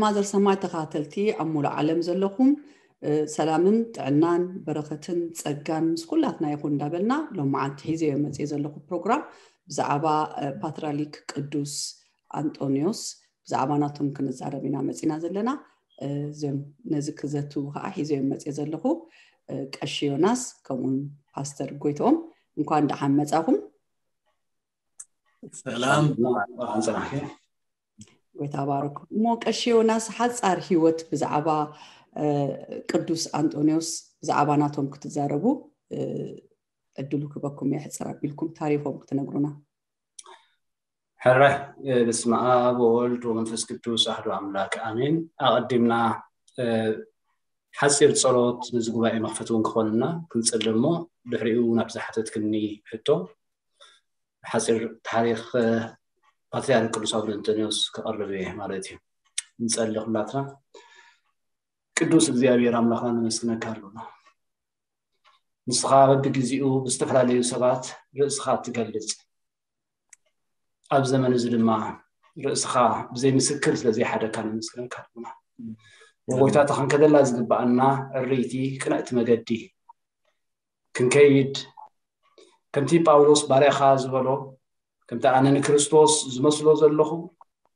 ማዘር ሰማይ ተኸታተልቲ ኣብ ሙሉእ ዓለም ዘለኹም፣ እ፣ ሰላምን ጥዕናን በረኸትን ጸጋን ምስ ኩላትና ይኹን እንዳበልና፣ ሎም መዓልቲ ሒዘዮ መጽየ ዘለኹ ፕሮግራም ብዛዕባ፣ እ፣ ፓትርያርክ ቅዱስ ኣንጦንዮስ ብዛዕባ ናቶም ክንዛረብ ኢና መጺና ዘለና። እ፣ እዞም ነዚ ክዘትዉ ከዓ ሒዘዮ መጽየ ዘለኹ፣ እ፣ ቀሺ ዮናስ ከምኡውን ፓስተር ጎይትኦም፣ እንኳን ደሓን መጻኹም። ሰላም፣ እንኳን ደሓን ጸናሕኪ። ጎይታ ባርኩም። እሞ ቀሺ ዮናስ፣ ሓጻር ህይወት ብዛዕባ፣ እ፣ ቅዱስ ኣንጦንዮስ፣ ብዛዕባ ናቶም ክትዛረቡ፣ እ፣ ዕድሉ ክበኩም እየ፣ ሕጽር ኣቢልኩም ታሪኾም ክትነግሩና። ሕራይ፣ እ፣ በስመ ኣብ ወወልድ ወመንፈስ ቅዱስ ኣሐዱ ኣምላክ ኣሜን። ኣቐዲምና፣ እ፣ ሓጺር ጸሎት ነዚ ጉባኤ መኽፈቲ እውን ክኾንና ክንጽሊ እሞ፣ ድሕሪኡ ናብ ዝሓተትክኒ ሕቶ፣ ሓጺር ታሪኽ፣ እ፣ ፓትርያርክ ቅዱስ ኣቡነ እንጦንዮስ ክቐርብ እየ ማለት እዩ። ንጸሊ ኩላትና። ቅዱስ እግዚኣብሔር ኣምላኽና ነመስግነካ ኣለና። ንስኻ በብግዜኡ ብዝተፈላለዩ ሰባት ርእስኻ ትገልጽ፣ ኣብ ዘመን እዚ ድማ ርእስኻ ብዘይ ምስክር ስለ ዘይሓደካ ነመስግነካ ኣለና። ጎይታ፣ እታ ክንከደላ ዝግብኣና ዕርይቲ ቅንዕቲ መገዲ ክንከይድ፣ ከምቲ ጳውሎስ ባርያኻ ዝበሎ፣ ከምቲ ኣነ ንክርስቶስ ዝመስሎ ዘለኹ፣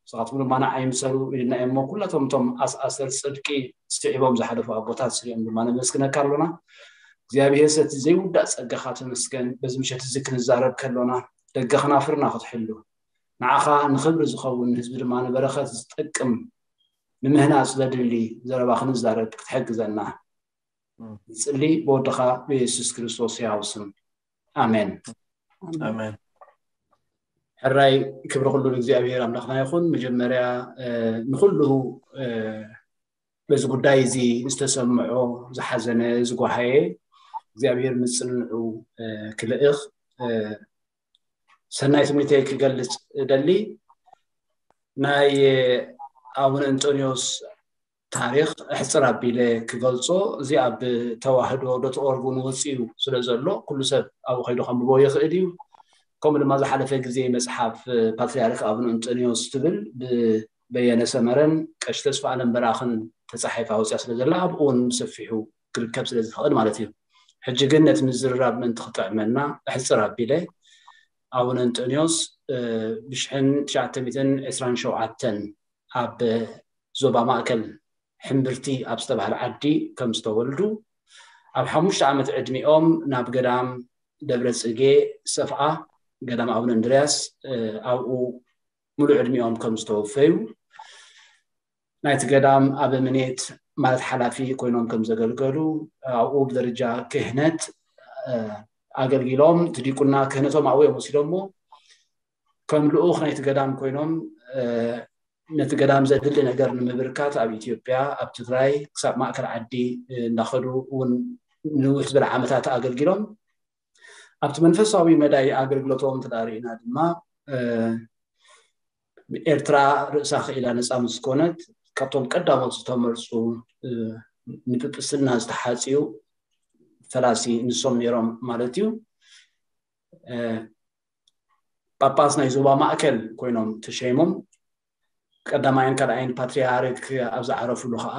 ንስኻትኩም ድማ ንዓይ ምሰሉ ኢልና እሞ፣ ኩላቶም እቶም ኣስኣሰር ጽድቂ ስዒቦም ዝሓለፉ ኣቦታት ስሪኦም ድማ ነመስግነካ ኣሎና። እግዚኣብሔር፣ ሰቲ ዘይውዳእ ጸጋኻ ተመስገን። በዚ ምሸት እዚ ክንዛረብ ከሎና፣ ደገ ከናፍርና ክትሕሉ፣ ንዓኻ ንኽብሪ ዝኸውን፣ ንህዝቢ ድማ ንበረኸት ዝጠቅም ንምህናጽ ዘድሊ ዘረባ ክንዛረብ ክትሕግዘና ንጽሊ፣ ብወድኻ ብየሱስ ክርስቶስ ሕያው ስም፣ ኣሜን። ኣሜን። ኣሜን። ሕራይ ክብሪ ኩሉ ንእግዚኣብሔር ኣምላኽና ይኹን። መጀመርያ፣ እ፣ ንኹሉ፣ እ፣ በዚ ጉዳይ እዚ ዝተሰምዖ፣ ዝሓዘነ፣ ዝጓሃየ እግዚኣብሔር ምጽንንዑ፣ እ፣ ክልእኽ፣ እ፣ ሰናይ ትምኒተይ ክገልጽ እደሊ። ናይ ኣቡነ እንጦንዮስ ታሪኽ ኣሕጽር ኣቢለ ክገልጾ፣ እዚ ኣብ ተዋህዶ ዶት ኦርግ እውን ወጺኡ ስለ ዘሎ፣ ኩሉ ሰብ ኣብኡ ከይዱ ከንብቦ ይኽእል እዩ። ከምኡ ድማ ዝሓለፈ ግዜ መጽሓፍ ፓትርያርክ ኣቡነ እንጦንዮስ ትብል ብበየነ ሰመረን ቀሺ ተስፋ ኣለም በራኽን ተጻሒፋ ወጺኣ ስለ ዘላ፣ ኣብኡ እውን ብሰፊሑ ክርከብ ስለ ዝኽእል ማለት እዩ። ሕጂ ግን ነቲ ምዝርራብ ምእንቲ ክጥዕመና፣ ኣሕጽር ኣቢለ ኣቡነ እንጦንዮስ፣ እ፣ ብሽሕን ትሽዓተ ሚእትን ዕስራን ሸውዓተን ኣብ ዞባ ማእከል ሕምብርቲ ኣብ ዝተባህለ ዓዲ ከም ዝተወልዱ፣ ኣብ ሓሙሽተ ዓመት ዕድሚኦም ናብ ገዳም ደብረ ጽጌ ሰፍኣ፣ ገዳም ኣቡነ እንድርያስ፣ እ፣ ኣብኡ ሙሉእ ዕድሚኦም ከም ዝተወፈዩ፣ ናይቲ ገዳም ኣበምኔት ማለት ሓላፊ ኮይኖም ከም ዘገልገሉ፣ ኣብኡ ብደረጃ ክህነት፣ እ፣ ኣገልጊሎም፣ እቲ ዲቁና ክህነቶም ኣብኡ እዮም ወሲዶሞ። ከም ልኡኽ ናይቲ ገዳም ኮይኖም፣ እ፣ ነቲ ገዳም ዘድሊ ነገር ንምብርካት ኣብ ኢትዮጵያ፣ ኣብ ትግራይ፣ ክሳብ ማእከል ዓዲ፣ እ፣ እንዳኸዱ እውን ንውሕ ዝበለ ዓመታት ኣገልጊሎም። ኣብቲ መንፈሳዊ መዳይ ኣገልግሎቶም እንተ ደኣ ርኢና ድማ፣ እ፣ ኤርትራ ርእሳ ክኢላ ነጻ ምስ ኮነት፣ ካብቶም ቀዳሞት ዝተመርጹ፣ እ፣ ንጵጵስና ዝተሓጽዩ ፈላሲ ንሶም ነይሮም ማለት እዩ። እ፣ ጳጳስ ናይ ዞባ ማእከል ኮይኖም ተሸይሞም፣ ቀዳማይን ካልኣይን ፓትርያርክ ኣብ ዝዓረፉሉ ኸኣ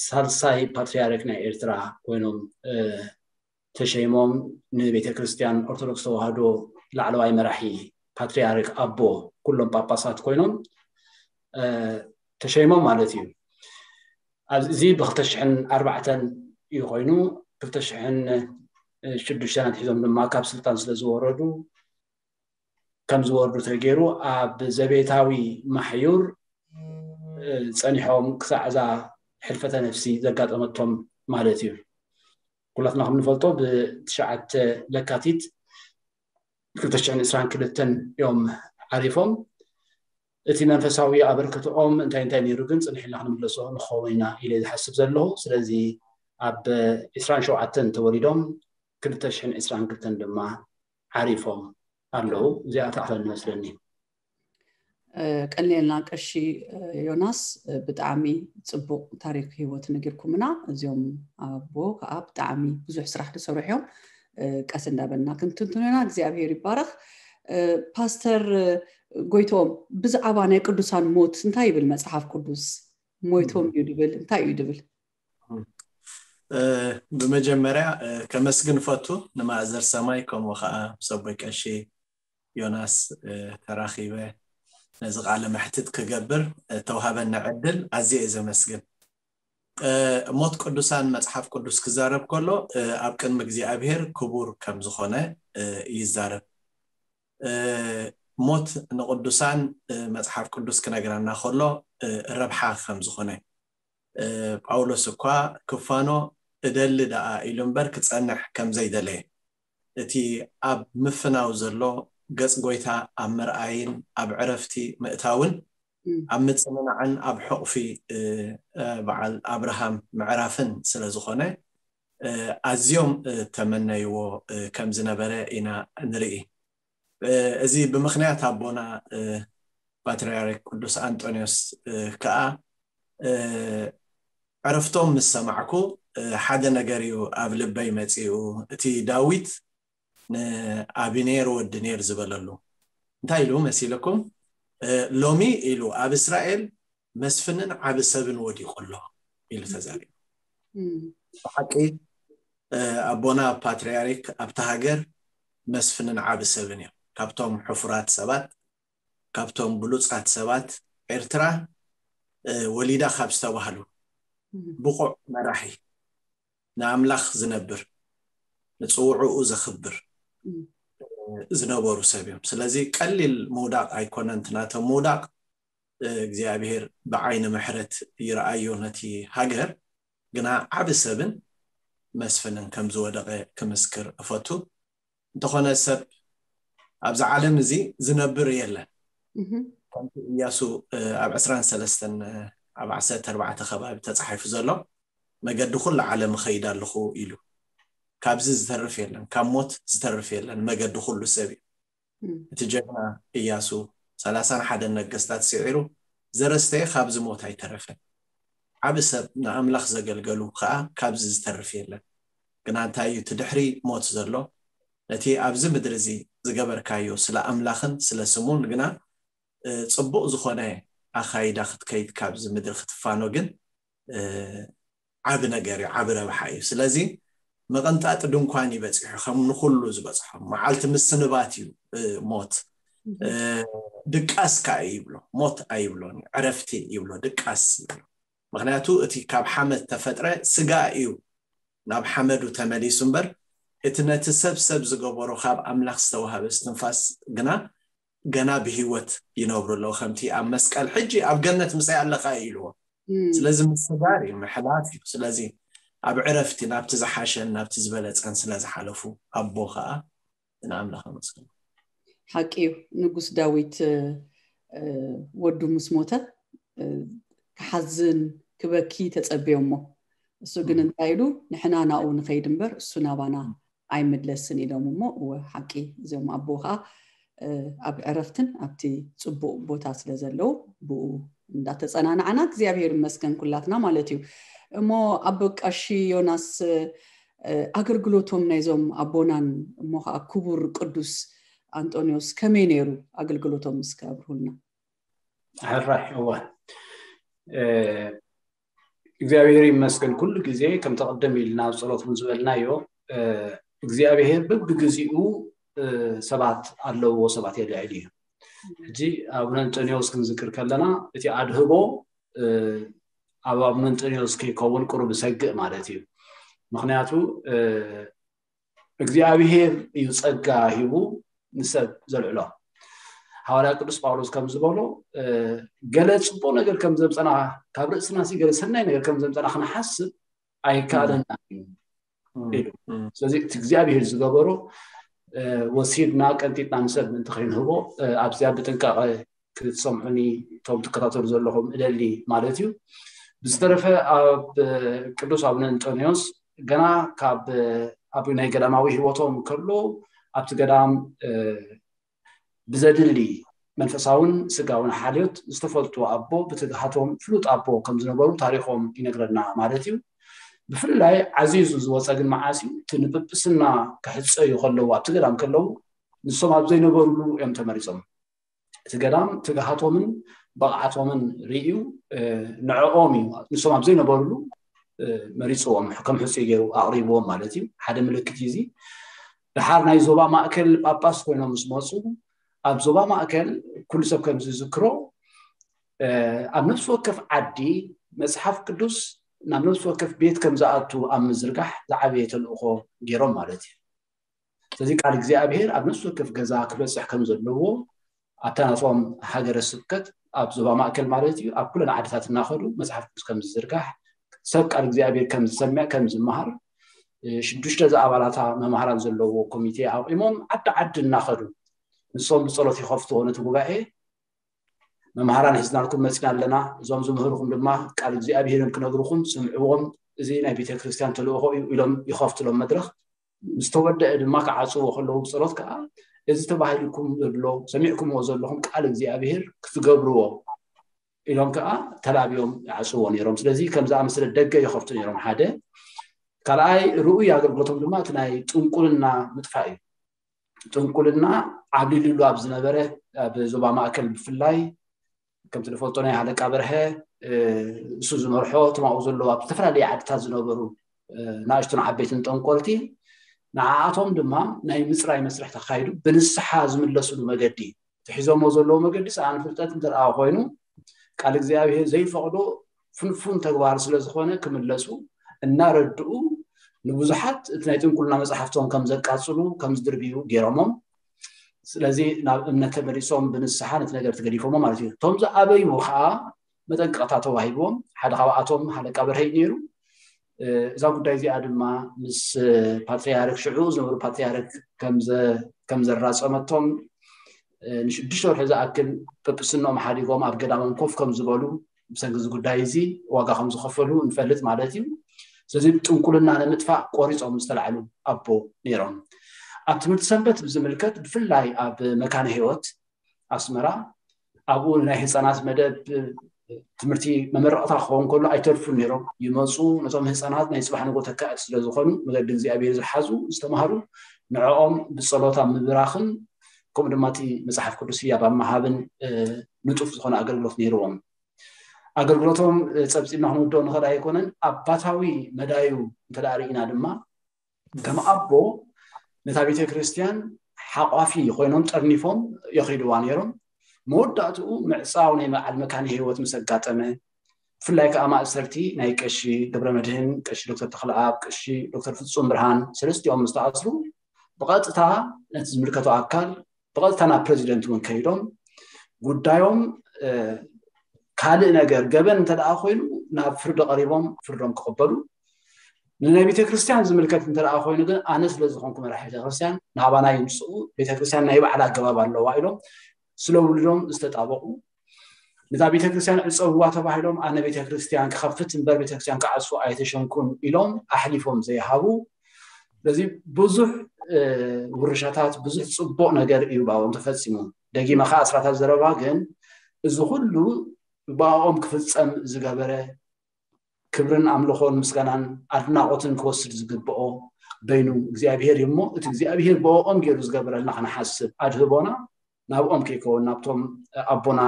ሳልሳይ ፓትርያርክ ናይ ኤርትራ ኮይኖም፣ እ፣ ተሸይሞም፣ ንቤተ ክርስቲያን ኦርቶዶክስ ተዋህዶ ላዕለዋይ መራሒ ፓትርያርክ ኣቦ ኩሎም ጳጳሳት ኮይኖም፣ እ፣ ተሸይሞም ማለት እዩ። ኣብዚ፣ እዚ ብኽልተ ሽሕን ኣርባዕተን እዩ ኮይኑ፣ ክልተ ሽሕን ሽዱሽተን ኣትሒዞም ድማ ካብ ስልጣን ስለ ዝወረዱ፣ ከም ዝወርዱ ተገይሩ፣ ኣብ ዘቤታዊ ማሕዩር፣ እ፣ ጸኒሖም ክሳዕ እዛ ሕልፈተ ነፍሲ ዘጋጠመቶም ማለት እዩ። ኩላትና ከም ንፈልጦ፣ ብትሽዓተ ለካቲት ክልተ ሽሕን ዕስራን ክልተን እዮም ዓሪፎም። እቲ መንፈሳዊ ኣበርክትኦም እንታይ እንታይ ነይሩ ግን ጽንሕ ኢልና ክንምለሶ ንኸውን ኢና ኢለ ዝሓስብ ዘለኹ። ስለዚ ኣብ ዕስራን ሸውዓተን ተወሊዶም ክልተ ሽሕን ዕስራን ክልተን ድማ ዓሪፎም ኣለዉ። እዚኣ ትኣኽለኒ መስለኒ። እ፣ ቀኒልና ቀሺ፣ እ፣ ዮናስ፣ እ፣ ብጣዕሚ ጽቡቕ ታሪኽ ህይወት ነጊርኩምና። እዚኦም ኣቦ ከኣ ብጣዕሚ ብዙሕ ስራሕ ዝሰርሑ እዮም። እ፣ ቀስ እንዳበልና ክንትንትኖ ኢና። እግዚኣብሔር ይባረኽ። እ፣ ፓስተር፣ እ፣ ጎይትኦም፣ ብዛዕባ ናይ ቅዱሳን ሞት እንታይ ይብል መጽሓፍ ቅዱስ? ሞይቶም እዩ ድብል እንታይ እዩ ድብል? ብመጀመርያ ከመስግን ፈቱ ንማእዘር ሰማይ ከምኡ ከዓ ሰቦይ ቀሺ ዮናስ ተራኺበ ነዚ ቃለ መሕትት ክገብር ተውሃበና ዕድል ኣዝየ እየ ዘመስግን። ሞት ቅዱሳን መጽሓፍ ቅዱስ ክዛረብ ከሎ ኣብ ቅድሚ እግዚኣብሔር ክቡር ከም ዝኾነ ይዛረብ። ሞት ንቅዱሳን መጽሓፍ ቅዱስ ክነግረና ከሎ ረብሓ ከም ዝኾነ ጳውሎስ እኳ ክፋኖ እደሊ ደኣ ኢሉ እምበር ክጸንሕ ከም ዘይደለየ እቲ ኣብ ምፍናው ዘሎ ገጽ ጎይታ ኣብ ምርኣይን ኣብ ዕረፍቲ ምእታውን ኣብ ምጽንናዕን ኣብ ሕቑፊ በዓል ኣብርሃም ምዕራፍን ስለ ዝኾነ ኣዝዮም ተመነይዎ ከም ዝነበረ ኢና ንርኢ። እዚ ብምኽንያት ኣቦና ፓትርያርክ ቅዱስ ኣንጦንዮስ ከዓ ዕረፍቶም ምስ ሰማዕኩ ሓደ ነገር እዩ ኣብ ልበይ መፂኡ። እቲ ዳዊት ንኣብኔር ወዲ ኔር ዝበለሉ እንታይ ኢሉ መሲልኩም? ሎሚ ኢሉ ኣብ እስራኤል መስፍንን ዓቢ ሰብን ወዲቑ ኣሎ ኢሉ ተዛሪቡ። ብሓቂ ኣቦና ፓትርያርክ ኣብታ ሃገር መስፍንን ዓቢ ሰብን እዮም። ካብቶም ሕፉራት ሰባት ካብቶም ብሉጻት ሰባት ኤርትራ ወሊዳ ካብ ዝተባህሉ ብቑዕ መራሒ ንኣምላኽ ዝነብር ንጽውዕኡ ዘኽብር ዝነበሩ ሰብ እዮም። ስለዚ ቀሊል ምውዳቕ ኣይኮነን። ትናቶም ምውዳቕ እግዚኣብሔር ብዓይኒ ምሕረት ይረኣዮ ነቲ ሃገር። ግና ዓቢ ሰብን መስፍንን ከም ዝወደቐ ክምስክር እፈቱ። እንተኾነ ሰብ ኣብዚ ዓለም እዚ ዝነብር የለን። ከምቲ እያሱ ኣብ ዕስራን ሰለስተን ኣብ ዓሰርተ ኣርባዕተ ከባቢ ተጻሒፉ ዘሎ መገዲ ኩሉ ዓለም እኸይድ ኣለኹ ኢሉ። ካብዚ ዝተርፍ የለን፣ ካብ ሞት ዝተርፍ የለን። መገዲ ኩሉ ሰብ እዩ። እቲ ጀግና እያሱ ሰላሳን ሓደን ነገስታት ስዒሩ ዘረስተየ ካብዚ ሞት ኣይተረፈን። ዓቢ ሰብ ንኣምላኽ ዘገልገሉ ከዓ ካብዚ ዝተርፍ የለን። ግና እንታይ እዩ እቲ ድሕሪ ሞት ዘሎ? ነቲ ኣብዚ ምድሪ እዚ ዝገበርካዮ ስለ ኣምላኽን ስለ ስሙን ግና ጽቡቕ ዝኾነ ኣኻይዳ ክትከይድ ካብዚ ምድሪ ክትፋኖ ግን ዓቢ ነገር እዩ፣ ዓቢ ረብሓ እዩ። ስለዚ መቐንጣጢ ድንኳን ይበፂሑ ከም ንኩሉ ዝበፅሖም መዓልቲ ምስንባት እዩ ሞት። ድቃስ ከዓ ይብሎ፣ ሞት ኣይብሎን፣ ዕረፍቲ ይብሎ፣ ድቃስ ይብሎ። ምክንያቱ እቲ ካብ ሓመድ ተፈጥረ ስጋ እዩ ናብ ሓመዱ ተመሊሱ እምበር እቲ ነቲ ሰብ ሰብ ዝገበሮ ካብ ኣምላኽ ዝተዋሃበ እስትንፋስ ግና ገና ብህይወት ይነብሩ ኣለዉ። ከምቲ ኣብ መስቀል ሕጂ ኣብ ገነት ምሳይ ኣለኻ እዩ ኢልዎ። ስለዚ ምስጋር እዩ፣ ምሕላት እዩ። ስለዚ ኣብ ዕረፍቲ ናብቲ ዝሓሸን ናብቲ ዝበለጸን ስለ ዝሓለፉ ኣቦ ከዓ ንኣምላኽ ኣመስግኑ። ሓቂ እዩ። ንጉስ ዳዊት ወዱ ምስ ሞተ ክሓዝን ክበኪ ተጸብዮ እሞ እሱ ግን እንታይ ኢሉ ንሕና ናብኡ ንኸይድ እምበር እሱ ናባና ኣይምለስን ኢሎም እሞ እወ ሓቂ እዚኦም ኣቦ ከዓ ኣብ ዕረፍትን ኣብቲ ፅቡቅ ቦታ ስለ ዘለዉ ብኡ እንዳተፀናናዕና እግዚኣብሔር ይመስገን ኩላትና ማለት እዩ። እሞ ኣቦ ቀሺ ዮናስ ኣገልግሎቶም ናይዞም ኣቦናን እሞ ከዓ ክቡር ቅዱስ ኣንጦንዮስ ከመይ ነይሩ ኣገልግሎቶም እስከ ኣብርሁልና። ሕራይ እወ እግዚኣብሔር ይመስገን ኩሉ ግዜ ከምቲ ቅድም ኢልና ኣብ ጸሎት እውን ዝበልናዮ እግዚኣብሔር በብግዚኡ ሰባት ኣለውዎ ሰባት የልዕል እዩ። ሕጂ ኣቡነ እንጠንዮስ ክንዝክር ከለና እቲ ኣድህቦ ኣብ ኣቡነ እንጠንዮስ ከይከውን ቅሩብ ሰግእ ማለት እዩ። ምክንያቱ እግዚኣብሔር እዩ ጸጋ ሂቡ ንሰብ ዘልዕሎ። ሃዋርያ ቅዱስ ጳውሎስ ከም ዝበሎ ገለ ጽቡቅ ነገር ከም ዘምፀና ካብ ርእስና ሲ ገለ ሰናይ ነገር ከም ዘምፀና ክንሓስብ ኣይከኣለና እዩ ኢሉ። ስለዚ እቲ እግዚኣብሔር ዝገበሮ ወሲድና ቀንጢጥና ንሰብ ምእንቲ ከይንህቦ ኣብዚኣ ብጥንቃቐ ክትሰምዑኒ እቶም ትከታተሉ ዘለኹም እደሊ ማለት እዩ። ብዝተረፈ ኣብ ቅዱስ ኣቡነ እንጦንዮስ ገና ካብ ኣብ ናይ ገዳማዊ ህይወቶም ከሎ ኣብቲ ገዳም ብዘድሊ መንፈሳውን ስጋውን ሓልዮት ዝተፈልጡ ኣቦ ብትግሃቶም ፍሉጥ ኣቦ ከም ዝነበሩ ታሪኾም ይነግረና ማለት እዩ። ብፍላይ ዓዚዙ ዝወፀ ግን መዓስ እዩ? እቲ ንጵጵስና ክሕፀዩ ከለዉ ኣብቲ ገዳም ከለዉ ንሶም ኣብ ዘይነበርሉ እዮም ተመሪፆም። እቲ ገዳም ትግሃቶምን ብቕዓቶምን ርእዩ ንዕኦም እዩ፣ ንሶም ኣብ ዘይነበሩሉ መሪፅዎም፣ ከም ሕፁይ ገይሩ ኣቕሪብዎም ማለት እዩ። ሓደ ምልክት እዩ እዚ። ድሓር ናይ ዞባ ማእከል ጳጳስ ኮይኖም ምስ መፁ፣ ኣብ ዞባ ማእከል ኩሉ ሰብ ከም ዝዝክሮ ኣብ ነፍሲ ወከፍ ዓዲ መፅሓፍ ቅዱስ ናብ ነፍሲ ወከፍ ቤት ከም ዝኣቱ ኣብ ምዝርጋሕ ዝዓበየ ተልእኾ ገይሮም ማለት እዩ። ስለዚ ቃል እግዚኣብሔር ኣብ ነፍሲ ወከፍ ገዛ ክበፅሕ ከም ዘለዎ ኣብታ ናቶም ሃገረ ስብከት ኣብ ዞባ ማእከል ማለት እዩ ኣብ ኩለን ዓድታት እናኸዱ መፅሓፍ ቅዱስ ከም ዝዝርጋሕ ሰብ ቃል እግዚኣብሔር ከም ዝሰምዕ ከም ዝመሃር ሽዱሽተ ዝኣባላታ መምሃራን ዘለዎ ኮሚቴ ኣቑሞም ዓዲ ዓዲ እናኸዱ ንሶም ብፀሎት ይኸፍትዎ ነቲ ጉባኤ። መምሃራን ሒዝናልኩም መፂና ኣለና፣ እዞም ዝምህርኩም ድማ ቃል እግዚኣብሔር እዮም ክነግርኩም፣ ስምዕዎም፣ እዚ ናይ ቤተክርስትያን ተልእኾ እዩ ኢሎም ይኸፍትሎም መድረኽ። ምስ ተወደአ ድማ ክዓፅዎ ከለዉ ብፀሎት ከዓ እዚ ተባሂልኩም ዘሎ ሰሚዕኩምዎ ዘለኹም ቃል እግዚኣብሔር ክትገብርዎ ኢሎም ከዓ ተላብዮም ይዓፅዎ ነይሮም። ስለዚ ከም ዝኣመሰለ ደገ ይኸፍቱ ነይሮም። ሓደ ካልኣይ ርኡይ ኣገልግሎቶም ድማ እቲ ናይ ጥንቁልና ምጥፋእ እዩ። ጥንቁልና ዓብሊሉሉ ኣብ ዝነበረ ኣብ ዞባ ማእከል ብፍላይ ከምቲ ንፈልጦ ናይ ሃለቃ በርሀ እሱ ዝመርሖ እቶም ኣብኡ ዘለዉ ኣብ ዝተፈላለየ ዓድታት ዝነበሩ ናእሽቱን ዓበይትን ጠንቆልቲ ንዓኣቶም ድማ ናይ ምፅራይ መስርሕ ተካይዱ ብንስሓ ዝምለስሉ መገዲ ትሒዞሞ ዘለዉ መገዲ ሰኣን ፍልጠት እንተ ኮይኑ ቃል እግዚኣብሔር ዘይፈቕዶ ፍንፉን ተግባር ስለ ዝኾነ ክምለሱ እናረድኡ ንብዙሓት እቲ ናይ ጥንቁልና መፅሓፍቶም ከም ዘቃፅሉ ከም ዝድርብዩ ገይሮሞም። ስለዚ ናብ እምነት ተመሊሶም ብንስሓ ነቲ ነገር ተገዲፎሞ ማለት እዩ። እቶም ዝኣበዩ ከዓ መጠንቀቕታ ተዋሂብዎም። ሓደ ካብኣቶም ሃለቃ በርሀ እዩ ነይሩ። እዛ ጉዳይ እዚኣ ድማ ምስ ፓትርያርክ ሽዑ ዝነበሩ ፓትርያርክ ከም ዘራፀመቶም ንሽዱሽተ ወርሒ ዝኣክል ጵጵስንኦም ሓዲጎም ኣብ ገዳሞም ኮፍ ከም ዝበሉ ብሰንኪ እዚ ጉዳይ እዚ ዋጋ ከም ዝኸፈሉ ንፈልጥ ማለት እዩ። ስለዚ ጥንቁልና ንምጥፋእ ቆሪፆም ዝተላዕሉ ኣቦ ነይሮም። ኣብ ትምህርቲ ሰንበት ብዝምልከት ብፍላይ ኣብ መካነ ህይወት ኣስመራ ኣብኡ ናይ ህፃናት መደብ ትምህርቲ መመረቕታ ክኸውን ከሎ ኣይተርፉን ነይሮም። ይመፁ፣ ነቶም ህፃናት ናይ ፅባሕ ንጎ ተካእቲ ስለ ዝኾኑ መገዲ እግዚኣብሔር ዝሓዙ ዝተምሃሩ ንዕኦም ብፀሎት ኣብ ምብራኽን ከምኡ ድማ እቲ መፅሓፍ ቅዱስ ህያብ ኣብ ምሃብን ንጡፍ ዝኾነ ኣገልግሎት ነይርዎም። ኣገልግሎቶም ፀብፂብና ክንውድኦ ንኽእል ኣይኮነን። ኣባታዊ መዳዩ እንተ ርኢና ድማ ከም ኣቦ ነታ ቤተ ክርስቲያን ሓቋፊ ኮይኖም ጠርኒፎም የኺድዋ ነይሮም። መወዳእትኡ ምዕፃው ናይ በዓል መካነ ህይወት ምስ ኣጋጠመ ብፍላይ ከዓ ማእሰርቲ ናይ ቀሺ ገብረ መድህን፣ ቀሺ ዶክተር ተኽለኣብ፣ ቀሺ ዶክተር ፍፁም ብርሃን ሰለስቲኦም ምስ ተኣስሩ ብቐጥታ ነቲ ዝምልከቶ ኣካል ብቐጥታ ናብ ፕረዚደንት እውን ከይዶም ጉዳዮም ካልእ ነገር ገበን እንተ ደኣ ኮይኑ ናብ ፍርዲ ቀሪቦም ፍርዶም ክቕበሉ ንናይ ቤተ ክርስቲያን ዝምልከት እንተ ደኣ ኮይኑ ግን ኣነ ስለ ዝኾንኩ መራሒ ቤተ ክርስቲያን ናባና ይምፅኡ ቤተ ክርስቲያን ናይ ባዕላ ኣገባብ ኣለዋ ኢሎም ስለ ውልዶም ዝተጣበቑ ነታ ቤተ ክርስቲያን ዕፀውዋ ተባሂሎም ኣነ ቤተ ክርስቲያን ክኸፍት እምበር ቤተ ክርስቲያን ክዓፅው ኣይተሸንኩን ኢሎም ኣሕሊፎም ዘይሃቡ ስለዚ ብዙሕ ውርሻታት ብዙሕ ፅቡቕ ነገር እዩ ባኦም ተፈፂሙ ደጊመ ከዓ ኣስራታት ዘረባ ግን እዚ ኩሉ ብኣኦም ክፍፀም ዝገበረ ክብርን ኣምልኾን ምስጋናን ኣድናቖትን ክወስድ ዝግብኦ በይኑ እግዚኣብሄር እዩ እሞ እቲ እግዚኣብሄር ብኦም ገይሩ ዝገበረልና ክንሓስብ ኣድህቦና ናብኦም ከይከውን ናብቶም ኣቦና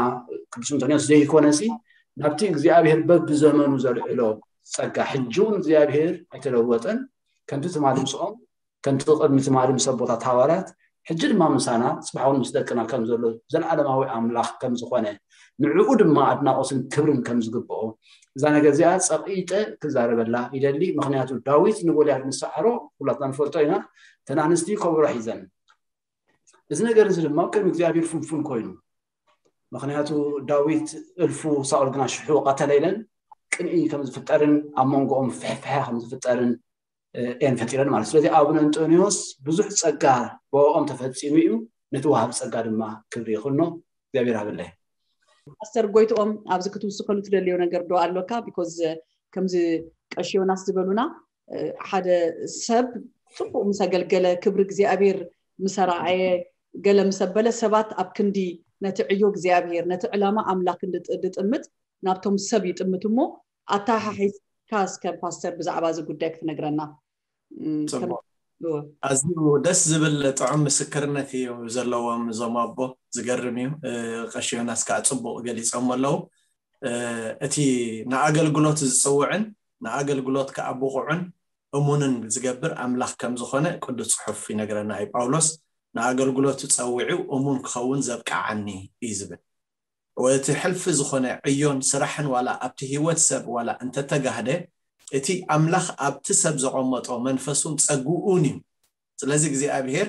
ቅዱስ እንቶንዮስ ዘይኮነሲ ናብቲ እግዚኣብሄር በብዘመኑ ዘልዕሎ ጸጋ ሕጂ እውን እግዚኣብሄር ኣይተለወጠን ከምቲ ትማሊ ምስኦም ከምቲ ቅድሚ ትማሊ ምስ ኣቦታት ሃዋርያት ሕጂ ድማ ምሳና ጽባሕ እውን ምስ ደቅና ከም ዘሎ ዘለዓለማዊ ኣምላኽ ከም ዝኾነ ንዕኡ ድማ ኣድናቖትን ክብርን ከም ዝግብኦ እዛ ነገር እዚኣ ጸቒጠ ክዛረበላ ይደሊ ምክንያቱ ዳዊት ንጎልያድ ምስ ሰዓሮ ኩላትና ንፈልጦ ኢና ተን ኣንስቲ ከበሮ ሒዘን እዚ ነገር እዚ ድማ ቅድሚ እግዚኣብሔር ፍንፉን ኮይኑ ምክንያቱ ዳዊት እልፉ ሳኦል ግና ሽሑ ቀተለ ኢለን ቅንኢ ከም ዝፍጠርን ኣብ መንጎኦም ፍሕፍሐ ከም ዝፍጠርን እየን ፈጢረን ማለት ስለዚ ኣቡነ እንጦንዮስ ብዙሕ ፀጋ ብኦም ተፈፂሙ እዩ ነቲ ወሃብ ፀጋ ድማ ክብሪ ይኹኖ እግዚኣብሔር ሃበለይ ፓስተር ጎይትኦም ኣብዚ ክትውስኸሉ ትደልዮ ነገር ዶ ኣሎካ because ከምዚ ቀሺ ዮናስ ዝበሉና ሓደ ሰብ ፅቡቅ ምስ ኣገልገለ ክብሪ እግዚኣብሔር ምስ ኣረኣየ ገለ ምስ ኣበለ ሰባት ኣብ ክንዲ ነቲ ዕዮ እግዚኣብሔር ነቲ ዕላማ ኣምላክ ዝጥምት ናብቶም ሰብ ይጥምት እሞ ኣተሓሒዝካ እስከ ፓስተር ብዛዕባ እዚ ጉዳይ ክትነግረና ኣዝዩ ደስ ዝብል ጥዑም ምስክርነት እዩ ዘለዎም እዞም ኣቦ። ዝገርም እዩ። ቀሺ ዮናስ ከዓ ፅቡቅ ገሊፆም ኣለዉ። እቲ ንኣገልግሎት ዝፅውዕን ንኣገልግሎት ከዓ ብቑዕን እሙንን ዝገብር ኣምላኽ ከም ዝኾነ ቅዱስ ፅሑፍ ይነግረና እዩ። ጳውሎስ ንኣገልግሎቱ ፀዊዑ እሙን ክኸውን ዘብቅዓኒ እዩ ዝብል። እቲ ሕልፊ ዝኾነ ዕዮን ስራሕን ዋላ ኣብቲ ህይወት ሰብ ዋላ እንተተጋህደ፣ እቲ ኣምላኽ ኣብቲ ሰብ ዘቐመጦ መንፈሱን ጸግኡን እዩ። ስለዚ እግዚኣብሔር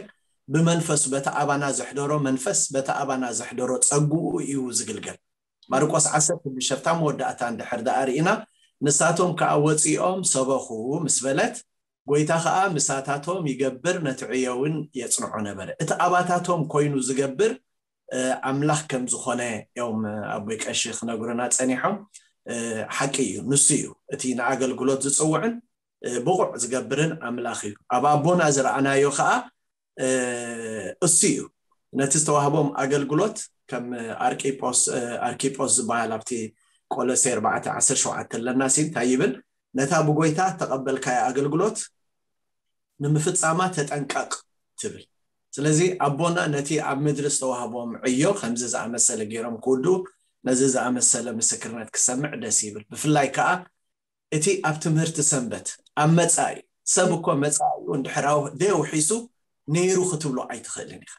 ብመንፈሱ በቲ ኣባና ዘሕደሮ መንፈስ በቲ ኣባና ዘሕደሮ ጸግኡ እዩ ዝግልገል። ማርቆስ ዓሰርተ ሽዱሽተ ኣብታ መወዳእታ እንድሕር ደኣ ርኢና፣ ንሳቶም ከኣ ወጺኦም ሰበኹ ምስ በለት፣ ጎይታ ከኣ ምሳታቶም ይገብር ነቲ ዕዮ እውን የጽንዖ ነበረ። እቲ ኣባታቶም ኮይኑ ዝገብር ኣምላኽ ከም ዝኾነ እዮም ኣቦይ ቀሺ ክነግሩና ጸኒሖም። ሓቂ እዩ፣ ንሱ እዩ እቲ ንኣገልግሎት ዝጽውዕን ብቑዕ ዝገብርን ኣምላኽ እዩ። ኣብ ኣቦና ዝረኣናዮ ከኣ እሱ እዩ። ነቲ ዝተዋህቦም ኣገልግሎት ከም ኣርቂጶስ ኣርኪጶስ ዝበሃል ኣብቲ ቆሎሴ ኣርባዕተ ዓሰርተ ሸውዓተ ኣለና ሲ እንታይ ይብል? ነታ ብጎይታ ተቐበልካያ ኣገልግሎት ንምፍጻማ ተጠንቀቕ ትብል። ስለዚ ኣቦና ነቲ ኣብ ምድሪ ዝተዋህቦም ዕዮ ከምዚ ዝኣመሰለ ገይሮም ክውድኡ፣ ነዚ ዝኣመሰለ ምስክርነት ክሰምዕ ደስ ይብል። ብፍላይ ከኣ እቲ ኣብ ትምህርቲ ሰንበት ኣብ መጻኢ ሰብ እኮ መጻኢኡ እንድሕር ደውሒሱ ነይሩ ክትብሎ ኣይትኽእልን ኢኻ።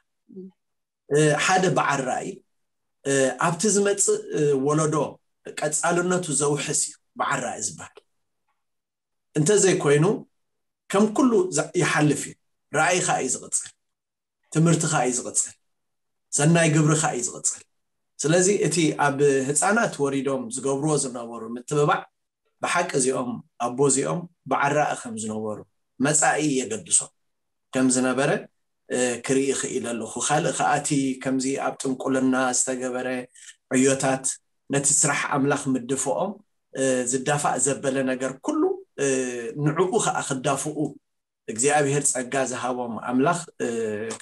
ሓደ በዓል ራእይ ኣብቲ ዝመጽእ ወለዶ ቀጻልነቱ ዘውሕስ እዩ በዓል ራእይ ዝበሃል። እንተዘይኮይኑ ከም ኩሉ ይሓልፍ እዩ። ራእይኻ እዩ ዝቕጽል፣ ትምህርትኻ እዩ ዝቕጽል፣ ሰናይ ግብርኻ እዩ ዝቕጽል። ስለዚ እቲ ኣብ ህፃናት ወሪዶም ዝገብርዎ ዝነበሩ ምትብባዕ ብሓቂ እዚኦም ኣቦ እዚኦም በዓል ራእይ ከም ዝነበሩ መፃኢ የገድሶም ከም ዝነበረ ክርኢ ክኢለ ኣለኹ። ካልእ ከኣቲ ከምዚ ኣብ ጥንቁልና ዝተገበረ ዕዮታት ነቲ ስራሕ ኣምላኽ ምድፍኦም ዝዳፋእ ዘበለ ነገር ኩሉ ንዕኡ ከዓ ክዳፍኡ እግዚኣብሔር ጸጋ ዝሃቦም ኣምላኽ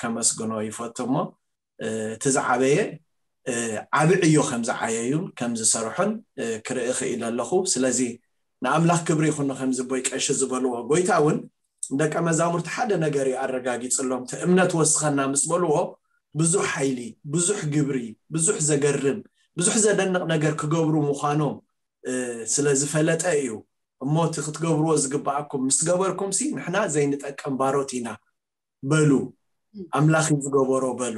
ከመስግኖ ይፈቱ። እሞ እቲ ዝዓበየ ዓቢ ዕዮ ከም ዝዓየዩን ከም ዝሰርሑን ክርኢ ክኢለ ኣለኹ። ስለዚ ንኣምላኽ ክብሪ ይኹኖ። ከምዚ ኣቦይ ቀሺ ዝበልዎ፣ ጎይታ እውን ንደቀ መዛሙርቲ ሓደ ነገር እዩ ኣረጋጊጽሎም። እቲ እምነት ወስኸና ምስ በልዎ ብዙሕ ሓይሊ፣ ብዙሕ ግብሪ፣ ብዙሕ ዘገርም፣ ብዙሕ ዘደንቕ ነገር ክገብሩ ምዃኖም ስለ ዝፈለጠ እዩ። እሞ እቲ ክትገብርዎ ዝግብኣኩም ምስ ገበርኩም ሲ ንሕና ዘይንጠቅም ባሮት ኢና በሉ። ኣምላኽ እዩ ዝገበሮ በሉ።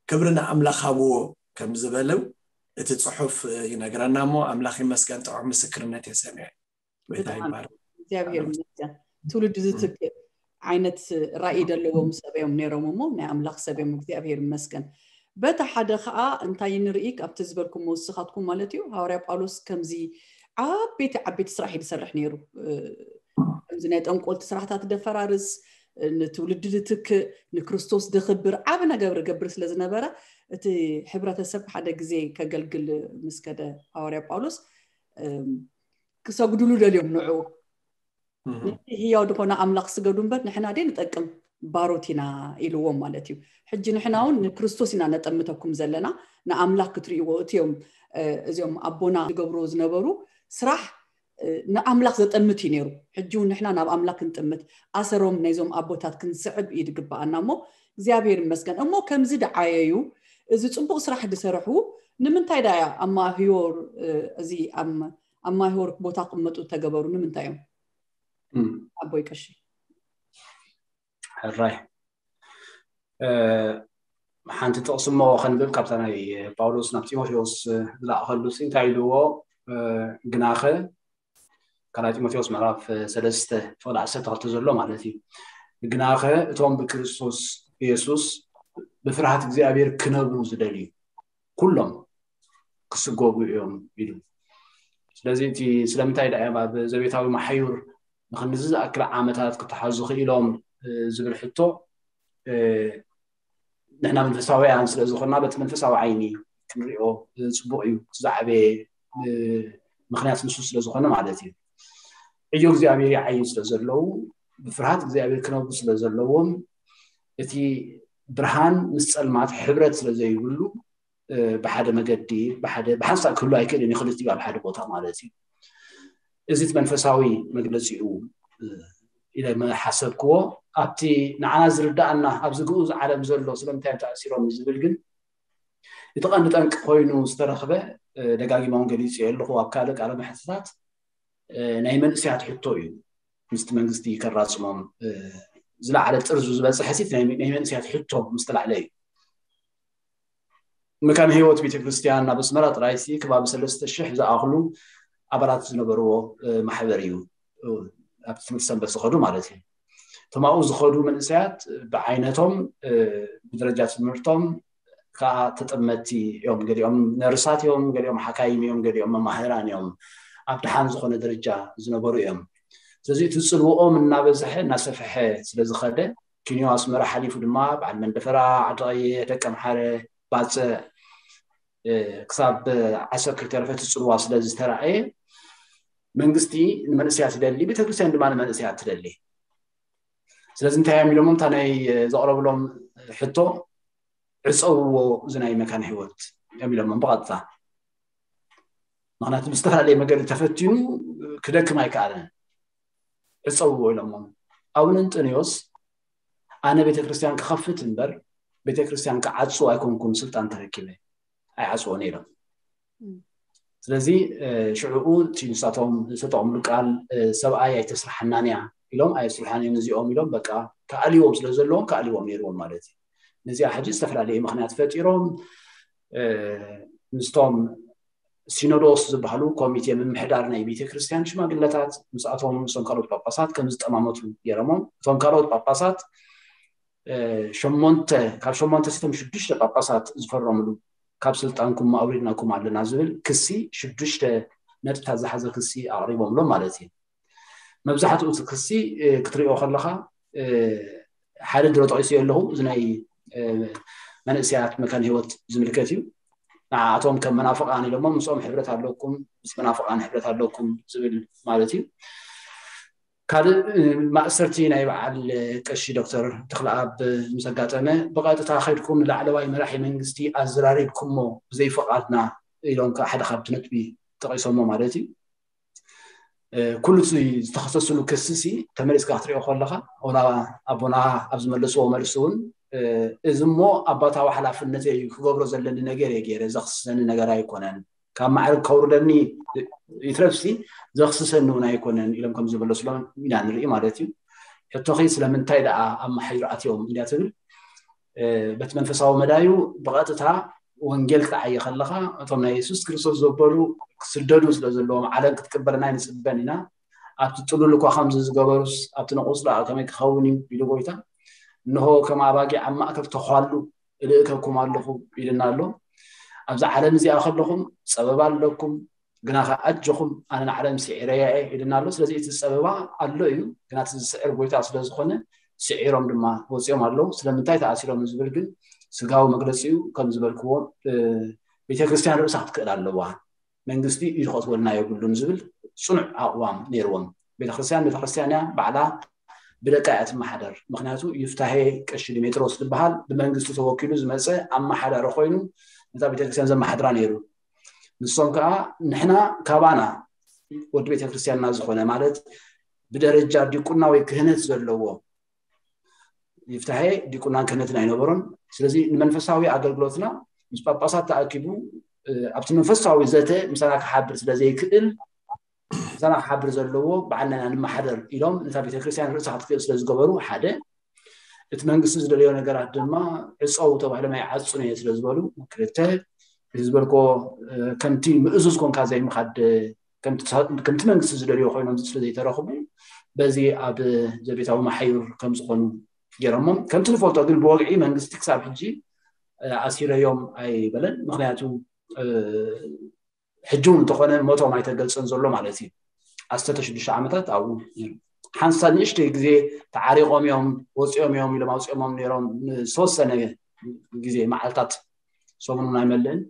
ክብሪ ንኣምላኽ ሃብዎ ከም ዝበሉ እቲ ጽሑፍ ይነግረና። እሞ ኣምላኽ ይመስገን ጥዑም ምስክርነት እየ ሰሚዐ። ጎይታ ይባረክ። እግዚኣብሔር ይመስገን። ትውልዲ ዝትክእ ዓይነት ራእይ ዘለዎም ሰብ እዮም ነይሮም እሞ ናይ ኣምላኽ ሰብ እዮም። እግዚኣብሔር ይመስገን። በቲ ሓደ ከዓ እንታይ ንርኢ ካብቲ ዝበልኩሞ ንስኻትኩም ማለት እዩ። ሃዋርያ ጳውሎስ ከምዚ ዓበይቲ ዓበይቲ ስራሕ እዩ ዝሰርሕ ነይሩ። ከምዚ ናይ ጠንቆልቲ ስራሕታት ደፈራርስ፣ ንትውልዲ ዝትክእ፣ ንክርስቶስ ደኽብር ዓቢ ነገር ገብር ስለ ዝነበረ እቲ ሕብረተሰብ ሓደ ግዜ ከገልግል ምስ ከደ ሃዋርያ ጳውሎስ ክሰግዱሉ ደልዮም ንዕኡ። ነቲ ህያው ዝኾነ ኣምላኽ ስገዱ እምበር ንሕና ደይ ንጠቅም ባሮት ኢና ኢልዎም ማለት እዩ። ሕጂ ንሕና እውን ንክርስቶስ ኢና ነጠምተኩም ዘለና፣ ንኣምላኽ ክትርእይዎ። እቲዮም እዚኦም ኣቦና ዝገብርዎ ዝነበሩ ስራሕ ንኣምላኽ ዘጠምት እዩ ነይሩ። ሕጂ እውን ንሕና ናብ ኣምላኽ ክንጥምት ኣሰሮም ናይዞም ኣቦታት ክንስዕብ እዩ ዝግብኣና። እሞ እግዚኣብሔር ይመስገን። እሞ ከምዚ ደዓየዩ እዚ ጽቡቕ ስራሕ ዝሰረሑ ንምንታይ ዳያ ኣማሂዮር እዚ ኣማሂዮር ቦታ ክመጡ ተገበሩ ንምንታይ እዮም? ኣቦይ ቀሺ ሕራይ ሓንቲ ጥቕሲ እሞ ከንብብ ካብታ ናይ ጳውሎስ ናብ ጢሞቴዎስ ዝለኣኸሉ ሲ እንታይ ኢልዎ? ግናኸ ካልኣይ ጢሞቴዎስ ምዕራፍ ሰለስተ ፍቕዲ ዓሰርተ ክልተ ዘሎ ማለት እዩ። ግናኸ እቶም ብክርስቶስ ኢየሱስ ብፍርሃት እግዚኣብሔር ክነብሩ ዝደልዩ ኩሎም ክስጎጉ እዮም ኢሉ። ስለዚ እቲ ስለምንታይ ዳ እዮም ኣብ ዘቤታዊ ማሕዩር ንክንዚ ዝኣክል ዓመታት ክተሓዙ ክኢሎም ዝብል ሕቶ ንሕና መንፈሳውያን ስለ ዝኾንና በቲ መንፈሳዊ ዓይኒ ክንሪኦ ፅቡቅ እዩ። ዝዓበየ ምክንያት ንሱ ስለ ዝኾነ ማለት እዩ። ዕዮ እግዚኣብሔር ይዓዩ ስለ ዘለዉ ብፍርሃት እግዚኣብሔር ክነብሩ ስለ ዘለዎም እቲ ብርሃን ምስ ፀልማት ሕብረት ስለ ዘይብሉ ብሓደ መገዲ ብሓንሳእ ክህሉ ኣይክእልን እዩ። ክልቲኡ ኣብ ሓደ ቦታ ማለት እዩ። እዚ እቲ መንፈሳዊ መግለፂኡ ኢለ መሓሰብክዎ። ኣብቲ ንዓና ዝርዳኣና ኣብዚ ግኡዝ ዓለም ዘሎ ስለምንታይ እዮም ተኣሲሮም ዝብል ግን እቲ ቀንዲ ጠንቂ ኮይኑ ዝተረኽበ ደጋጊመ እውን ገሊፀዮ ኣለኹ ኣብ ካልእ ቃለ መሕትታት። ናይ መንእሰያት ሕቶ እዩ ምስቲ መንግስቲ ከራፅሞም ዝለዓለ ጥርዙ ዝበፅሐ ሲት ናይ መንእሰያት ሕቶ ምስ ተላዕለ እዩ። መካነ ህይወት ቤተክርስትያን ናብ ኣስመራ ጥራይሲ ከባቢ ሰለስተ ሽሕ ዝኣኽሉ ኣባላት ዝነበርዎ ማሕበር እዩ። ኣብቲ ትምህርቲ ሰንበት ዝኸዱ ማለት እዩ። እቶም ኣብኡ ዝኸዱ መንእሰያት ብዓይነቶም ብደረጃ ትምህርቶም ከዓ ተጠመቲ እዮም። ገሊኦም ነርሳት እዮም፣ ገሊኦም ሓካይም እዮም፣ ገሊኦም መማህራን እዮም። ኣብ ደሓን ዝኾነ ደረጃ ዝነበሩ እዮም። ስለዚ እቲ ፅልውኦም እናበዝሐ እናሰፍሐ ስለዝኸደ ኪንዮ ኣስመራ ሓሊፉ ድማ በዓል መንደፈራ፣ ዓዲ ቀይሕ፣ ደቀምሓረ፣ ባፅዕ ክሳብ ዓሰብ ከይተረፈ እቲ ፅልዋ ስለዝተረኣየ መንግስቲ ንመንእሰያት ይደሊ፣ ቤተክርስትያን ድማ ንመንእሰያት ትደሊ። ስለዚ እንታይ እዮም ኢሎሞም? እታ ናይ ዘቕረብሎም ሕቶ ዕፀውዎ እዚ ናይ መካነ ህይወት እዮም ኢሎሞም ብቐጥታ። ምክንያቱ ብዝተፈላለየ መገዲ ተፈቲኑ ክደክም ኣይከኣለን። ዕፀውዎ ኢሎሞም። ኣቡነ እንጠንዮስ ኣነ ቤተክርስትያን ክኸፍት እምበር ቤተክርስትያን ክዓፅው ኣይኮንኩን ስልጣን ተረኪበ ኣይዓፅዎን ኢሎም። ስለዚ ሽዕኡ እቲ ንሳቶም ዝተጠቕምሉ ቃል ሰብኣይ ኣይተስርሓናን እያ ኢሎም ኣየስርሓን እዮም እዚኦም ኢሎም በቃ ክኣልዎም ስለ ዘለዎም ክኣልዎም ነይርዎም ማለት እዩ። ነዚኣ ሕጂ ዝተፈላለየ ምክንያት ፈጢሮም ምስቶም ሲኖዶስ ዝበሃሉ ኮሚቴ ምምሕዳር ናይ ቤተክርስትያን ሽማግለታት ምስኣቶም ምስቶም ካልኦት ጳጳሳት ከም ዝጠማመቱ ገይሮሞም። እቶም ካልኦት ጳጳሳት ሸሞንተ ካብ ሸሞንተ ሲቶም ሽዱሽተ ጳጳሳት ዝፈረምሉ ካብ ስልጣንኩም ኣውሪድናኩም ኣለና ዝብል ክሲ ሽዱሽተ ነጥብታት ዝሓዘ ክሲ ኣቕሪቦምሎም ማለት እዩ። መብዛሕትኡ እቲ ክሲ ክትሪኦ ከለኻ ሓደ ድሮ ጠቂሱ ኣለኹ እዚ ናይ መንእሰያት መካን ህይወት ዝምልከት እዩ። ንዓኣቶም ከም መናፍቃን ኢሎሞ ምስኦም ሕብረት ኣለኩም ምስ መናፍቃን ሕብረት ኣለኩም ዝብል ማለት እዩ። ካልእ ማእሰርቲ ናይ በዓል ቀሺ ዶክተር ተክለኣብ ምስ ኣጋጠመ ብቐጥታ ከድኩም ንላዕለዋይ መራሒ መንግስቲ ኣዘራሪብኩሞ ብዘይፍቓድና ኢሎም ከዓ ሓደ ካብቲ ነጥቢ ጠቂሶሞ ማለት እዩ። ኩሉ እቲ ዝተኸሰስሉ ክሲ ሲ ተመሊስካ ክትሪኦ ከለካ ወላ ኣቦና ኣብ ዝመለስዎ መልሲ እውን እዚ እሞ ኣባታዊ ሓላፍነት እዩ ክገብሮ ዘለኒ ነገር እየ ገይረ ዘኽስሰኒ ነገር ኣይኮነን ካብ ማዕርግ ከውርደኒ ይትረፍሲ ዘኽስሰኒ እውን ኣይኮነን ኢሎም ከም ዝመለስሎም ኢና ንርኢ ማለት እዩ። ሕቶኺ ስለምንታይ ደኣ ኣብ መሓይር ኣትዮም እንድያ ትብል በቲ መንፈሳዊ መዳዩ ብቐጥታ ወንጌል ክትዓየ ከለኻ እቶም ናይ የሱስ ክርስቶስ ዘበሉ ክስደዱ ስለ ዘለዎም ዓለም ክትቅበለና ይንፅበን ኢና። ኣብቲ ጥሉል እኳ ከምዚ ዝገበሩስ ኣብቲ ነቑፅ ደኣ ከመይ ክኸውን እዩ ኢሉ ጎይታ። እንሆ ከም ኣባጊዕ ኣብ ማእከል ተዃሉ እልእከኩም ኣለኹ ኢልና ኣሎ። ኣብዛ ዓለም እዚኣ ከለኹም ፀበባ ኣለኩም ግና ከዓ ኣጆኹም ኣነ ንዓለም ስዒረያ እየ ኢልና ኣሎ። ስለዚ እቲ ፀበባ ኣሎ እዩ ግና እቲ ዝስዕር ጎይታ ስለዝኾነ ስዒሮም ድማ ወፂኦም ኣለዉ። ስለምንታይ ተኣሲሮም ዝብል ግን ስጋዊ መግለፂኡ ከም ዝበልክዎ ቤተክርስትያን ርእሳ ክትክእል ኣለዋ። መንግስቲ ኢዱ ከእትወልና የብሉን ዝብል ፅኑዕ ኣቕዋም ነይርዎም። ቤተክርስትያን ቤተክርስትያን እያ ባዕላ ብደቃ እያ ትመሓደር። ምክንያቱ ይፍታሄ ቀሺ ዲሜጥሮስ ዝበሃል ብመንግስቲ ተወኪሉ ዝመፀ ኣመሓዳሪ ኮይኑ ነታ ቤተክርስትያን ዘመሓድራ ነይሩ። ንሶም ከዓ ንሕና ካባና ወዲ ቤተክርስትያንና ዝኾነ ማለት ብደረጃ ዲቁና ወይ ክህነት ዘለዎ ይፍታሄ ዲቁናን ክህነትን ኣይነበሮን። ስለዚ ንመንፈሳዊ ኣገልግሎትና ምስ ጳጳሳት ተኣኪቡ ኣብቲ መንፈሳዊ ዘተ ምሳና ክሓብር ስለ ዘይክእል ምሳና ክሓብር ዘለዎ ባዕልና ኢና ንመሓደር ኢሎም ነታ ቤተክርስትያን ርእሳ ክትክእል ስለ ዝገበሩ ሓደ እቲ መንግስቲ ዝደለዮ ነገራት ድማ ዕፀው ተባሂሎም ኣይዓፁን እየ ስለ ዝበሉ ክልተ እዚ ዝበልኮ ከምቲ ምእዙዝ ኮንካ ዘይምኻድ ከምቲ መንግስቲ ዝደልዮ ኮይኖም ስለ ዘይተረኽቡ በዚ ኣብ ዘቤታዊ መሓዩር ከም ዝኾኑ ገይሮሞም። ከምቲ ንፈልጦ ግን ብወግዒ መንግስቲ ክሳብ ሕጂ ኣሲረዮም ኣይበለን። ምክንያቱ ሕጂ እውን እንተኾነ ሞቶም ኣይተገልፀን ዘሎ ማለት እዩ። ኣስተ ሽዱሽተ ዓመታት ኣብኡ ሓንሳ ንእሽተይ ግዜ ተዓሪቆም እዮም ወፂኦም እዮም ኢሎም ኣውፂኦሞም ነይሮም ዝተወሰነ ግዜ መዓልታት ሰሙን እውን ኣይመልእን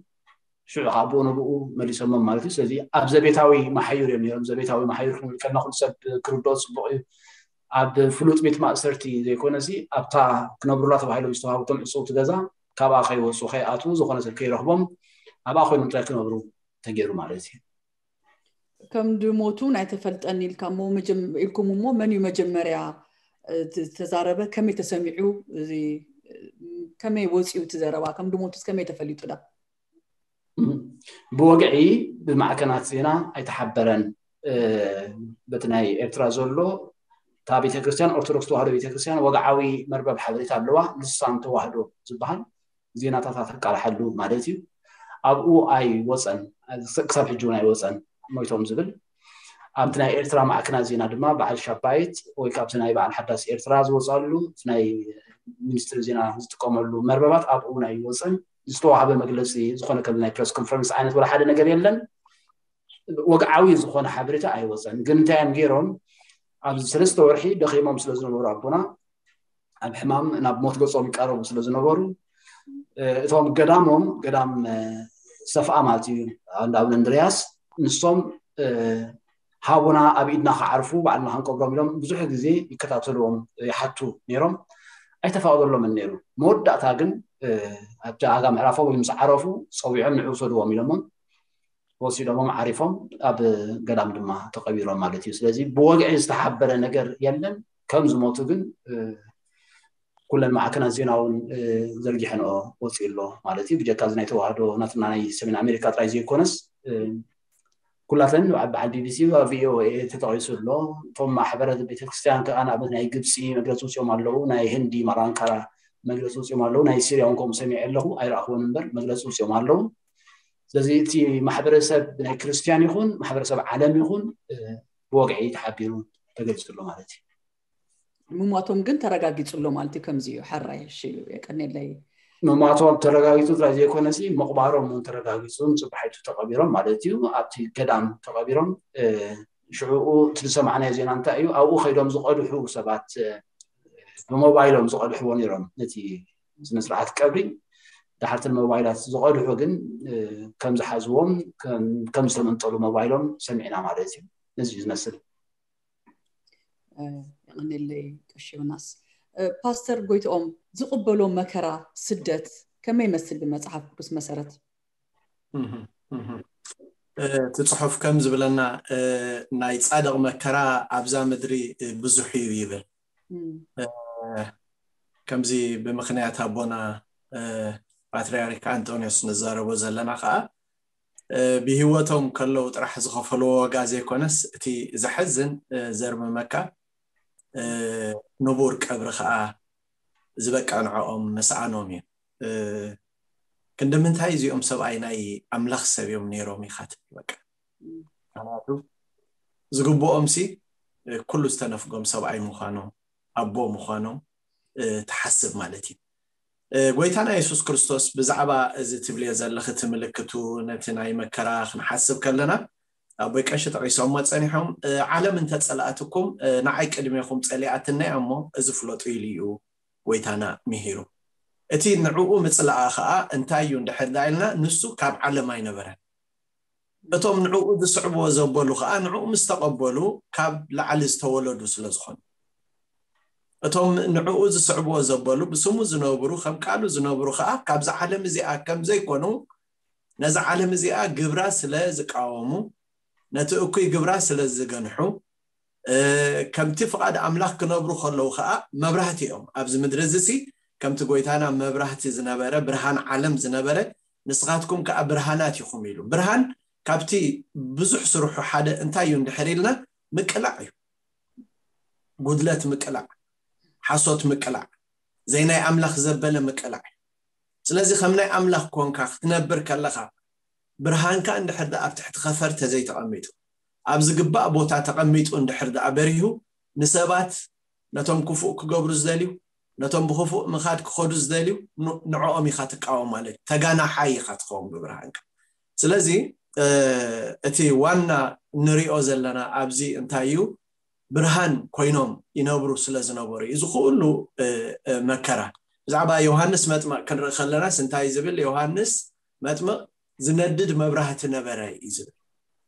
ሽዑ ከዓ ብኡ ንብኡ መሊሶሞም ማለት እዩ። ስለዚ ኣብ ዘቤታዊ መሓዩር እዮም ነይሮም። ዘቤታዊ መሓዩር ክንብል ከለና ኩሉ ሰብ ክርድኦ ፅቡቅ እዩ። ኣብ ፍሉጥ ቤት ማእሰርቲ ዘይኮነሲ ኣብታ ክነብሩላ ተባሂሎም ዝተዋሃቡቶም ዕፅውቲ ገዛ ካብኣ ከይወፁ ከይኣትዉ ዝኾነ ሰብ ከይረኽቦም ኣብኣ ኮይኖም ጥራይ ክነብሩ ተገይሩ ማለት እዩ። ከም ድሞቱ ናይ ተፈልጠን ኢልካ እሞ መጀም- ኢልኩም እሞ መን እዩ መጀመርያ እ፣ ት- ዝተዛረበ? ከመይ ተሰሚዑ? እዚ እ፣ ከመይ ወፂኡ እቲ ዘረባ? ከም ድሞቱስ ከመይ ተፈሊጡ ዳ? ብወግዒ ብማዕከናት ዜና ኣይተሓበረን። እ፣ በቲ ናይ ኤርትራ ዘሎ እታ ቤተክርስትያን፣ ኦርቶዶክስ ተዋህዶ ቤተክርስትያን ወግዓዊ መርበብ ሓበሬታ ኣለዋ፣ ልሳን ተዋህዶ ዝበሃል፣ ዜናታት ኣተቃልሓሉ ማለት እዩ። ኣብኡ ኣይወፀን፣ ክሳብ ሕጂ እውን ኣይወፀን። ሞይቶም ዝብል ኣብቲ ናይ ኤርትራ ማዕከናት ዜና ድማ በዓል ሻባይት ወይ ካብቲ ናይ በዓል ሓዳስ ኤርትራ ዝወፃሉ እቲ ናይ ሚኒስትሪ ዜና ዝጥቀመሉ መርበባት ኣብኡ እውን ኣይወፀን። ዝተዋሃበ መግለፂ ዝኾነ ከም ናይ ፕረስ ኮንፈረንስ ዓይነት ወላ ሓደ ነገር የለን። ወግዓዊ ዝኾነ ሓበሬታ ኣይወፀን። ግን እንታይ እዮም ገይሮም? ኣብዚ ሰለስተ ወርሒ ደኺሞም ስለ ዝነበሩ ኣቦና ኣብ ሕማም ናብ ሞት ገጾም ይቃረቡ ስለ ዝነበሩ፣ እ፣ እቶም ገዳሞም፣ ገዳም እ፣ ሰፍኣ ማለት እዩ፣ እንዳ ኣቡነ እንድርያስ፣ ንሶም እ፣ ሃቡና ኣብ ኢድና ክዓርፉ ባዕልና ክንቀብሮም ኢሎም ብዙሕ ግዜ ይከታተልዎም፣ ይሓቱ ነይሮም። ኣይተፈቕደሎምን ነይሩ። መወዳእታ ግን እ፣ ኣብቲ ኣጋ ምዕራፎም ወይ ምስ ዓረፉ ጸዊዖም ንዑ ውሰድዎም ኢሎሞም ወሲዶሞም ዓሪፎም ኣብ ገዳም ድማ ተቐቢሮም ማለት እዩ። ስለዚ ብወግዒ ዝተሓበረ ነገር የለን። ከም ዝሞቱ ግን እ፣ ኩለን ማዕከናት ዜና እውን እ፣ ዘርጊሐንኦ ወፂኡ ኣሎ ማለት እዩ። ብጀካ እዚ ናይ ተዋህዶ ናትና ናይ ሰሜን ኣሜሪካ ጥራይ ዘይኮነስ እ፣ ኩላተን ኣብ በዓል ቢቢሲ ኣብ ቪኦኤ ተጠቒሱ ኣሎ። እቶም ማሕበረ ቤተክርስትያን ከዓ ንኣብነት ናይ ግብፂ መግለፂ ውፅኦም ኣለዉ፣ ናይ ህንዲ ማራንካራ መግለፂ ውፅኦም ኣለዉ፣ ናይ ሲርያ እውን ከምኡ ሰሚዐ ኣለኹ፣ ኣይረኣኽዎን እምበር መግለፂ ውፅኦም ኣለዉ። ስለዚ እቲ ማሕበረሰብ ናይ ክርስትያን ይኹን ማሕበረሰብ ዓለም ይኹን እ፣ ብወግዒ ተሓቢሩ ተገሊፁ ኣሎ ማለት እዩ። ምሟቶም ግን ተረጋጊፁ ኣሎ ማለት እዩ። ከምዚ እዩ። ሕራይ፣ እሺ፣ የቀኔለይ። ምሟቶም ተረጋጊፁ ጥራይ ዘይኮነሲ ምቕባሮም እውን ተረጋጊፁ፣ ጽባሒቱ ተቐቢሮም ማለት እዩ። ኣብቲ ገዳም ተቐቢሮም እ፣ ሽዕኡ እቲ ዝሰማዕናዮ ዜና እንታይ እዩ? ኣብኡ ከይዶም ዝቐድሑ ሰባት እ፣ ብሞባይሎም ዝቐድሕዎ ነይሮም ነቲ ስነ ስርዓት ቀብሪ። ድሓርቲ ሞባይላት ዝቐድሑ ግን እ፣ ከም ዝሓዝዎም ከም- ከም ዝተመንጠሉ ሞባይሎም ሰሚዕና ማለት እዩ። ነዚ እዩ ዝመስል። እ፣ የቐኔለይ ቀሺ ዮናስ። እ፣ ፓስተር ጎይትኦም፣ ዝቕበሎ መከራ፣ ስደት ከመይ ይመስል ብመጽሓፍ ቅዱስ መሰረት? እህ፣ እህ። እ፣ እቲ ጽሑፍ ከም ዝብለና እ፣ ናይ ጻድቕ መከራ ኣብዛ ምድሪ እ፣ ብዙሕ እዩ ይብል። እም፣ እ፣ ከምዚ ብምኽንያት ኣቦና እ፣ ፓትርያርክ ኣንጦንዮስ ንዛረቦ ዘለና ከዓ እ፣ ብህይወቶም ከለዉ ጥራሕ ዝኸፈልዎ ዋጋ ዘይኮነስ እቲ ዘሐዝን እ፣ ዘርምመካ እ፣ ንቡር ቀብሪ ከዓ ዝበቃ ንዕኦም ምስኣኖም እዩ። እ፣ ክንዲ ምንታይ እዚኦም ሰብኣይ ናይ ኣምላኽ ሰብ እዮም ነይሮም ኢኻ ትብል በቃ። ምኽንያቱ ዝግብኦም ሲ እ፣ ኩሉ ዝተነፍጎም ሰብኣይ ምዃኖም ኣቦ ምዃኖም እ፣ ትሓስብ ማለት እዩ። እ፣ ጎይታና የሱስ ክርስቶስ ብዛዕባ እዚ ትብልዮ ዘለኺ እቲ ምልክቱ ነቲ ናይ መከራ ክንሓስብ ከለና ኣቦይ ቀሺ ጠቒሶሞ ጸኒሖም እ፣ ዓለም እንተጸልኣትኩም እ፣ ንዓይ ቅድሜኹም ጸሊኣትና እያ እሞ እዚ ፍለጡ ኢሉ እዩ ጎይታና ምሂሩ። እቲ ንዕኡ ምጽላኣ ኸኣ እንታይ እዩ እንድሕር ዳ ኢልና ንሱ ካብ ዓለም ኣይነበረን። እቶም ንዕኡ ዝስዕብዎ ዘበሉ ኸኣ ንዕኡ ምስ ተቐበሉ ካብ ላዕሊ ዝተወለዱ ስለ ዝኾኑ እቶም ንዕኡ ዝስዕብዎ ዘበሉ ብስሙ ዝነብሩ ከም ቃሉ ዝነብሩ ኸኣ ካብዛ ዓለም እዚኣ ከም ዘይኮኑ ነዛ ዓለም እዚኣ ግብራ ስለ ዝቃወሙ ነቲ እኩይ ግብራ ስለ ዝገንሑ እ፣ ከምቲ ፍቓድ ኣምላኽ ክነብሩ ከለዉ ኸኣ መብራህቲ እዮም ኣብዚ ምድሪ እዚ ሲ ከምቲ ጎይታና መብራህቲ ዝነበረ ብርሃን ዓለም ዝነበረ ንስኻትኩም ከኣ ብርሃናት ኢኹም ኢሉ። ብርሃን ካብቲ ብዙሕ ስርሑ ሓደ እንታይ እዩ እንድሕር ኢልና ምቅላዕ እዩ። ጉድለት ምቅላዕ፣ ሓሶት ምቅላዕ፣ ዘይናይ ኣምላኽ ዘበለ ምቅላዕ እዩ። ስለዚ ከም ናይ ኣምላኽ ኮንካ ክትነብር ከለኻ ብርሃንካ እንድሕር ደኣ ኣብ ትሕቲ ኸፈር ተዘይተቐሚጡ ኣብ ዝግባእ ቦታ ተቐሚጡ እንድሕር ደኣ በሪሁ ንሰባት ነቶም ክፉእ ክገብሩ ዝደልዩ ነቶም ብክፉእ ምኻድ ክኸዱ ዝደልዩ ን- ንዕኦም ኢኻ ትቃወም ማለት እዩ። ተጋናሓይ ኢኻ ትኸውን ብብርሃንካ። ስለዚ እ፣ እቲ ዋና ንሪኦ ዘለና ኣብዚ እንታይ እዩ ብርሃን ኮይኖም ይነብሩ ስለ ዝነበሩ እዩ እዚ ኩሉ እ፣ እ፣ መከራ። ብዛዕባ ዮሃንስ መጥመቕ ክንርኢ ከለናስ እንታይ ዝብል ዮሃንስ መጥምቕ ዝነድድ መብራህቲ ነበረ እዩ ዝብል።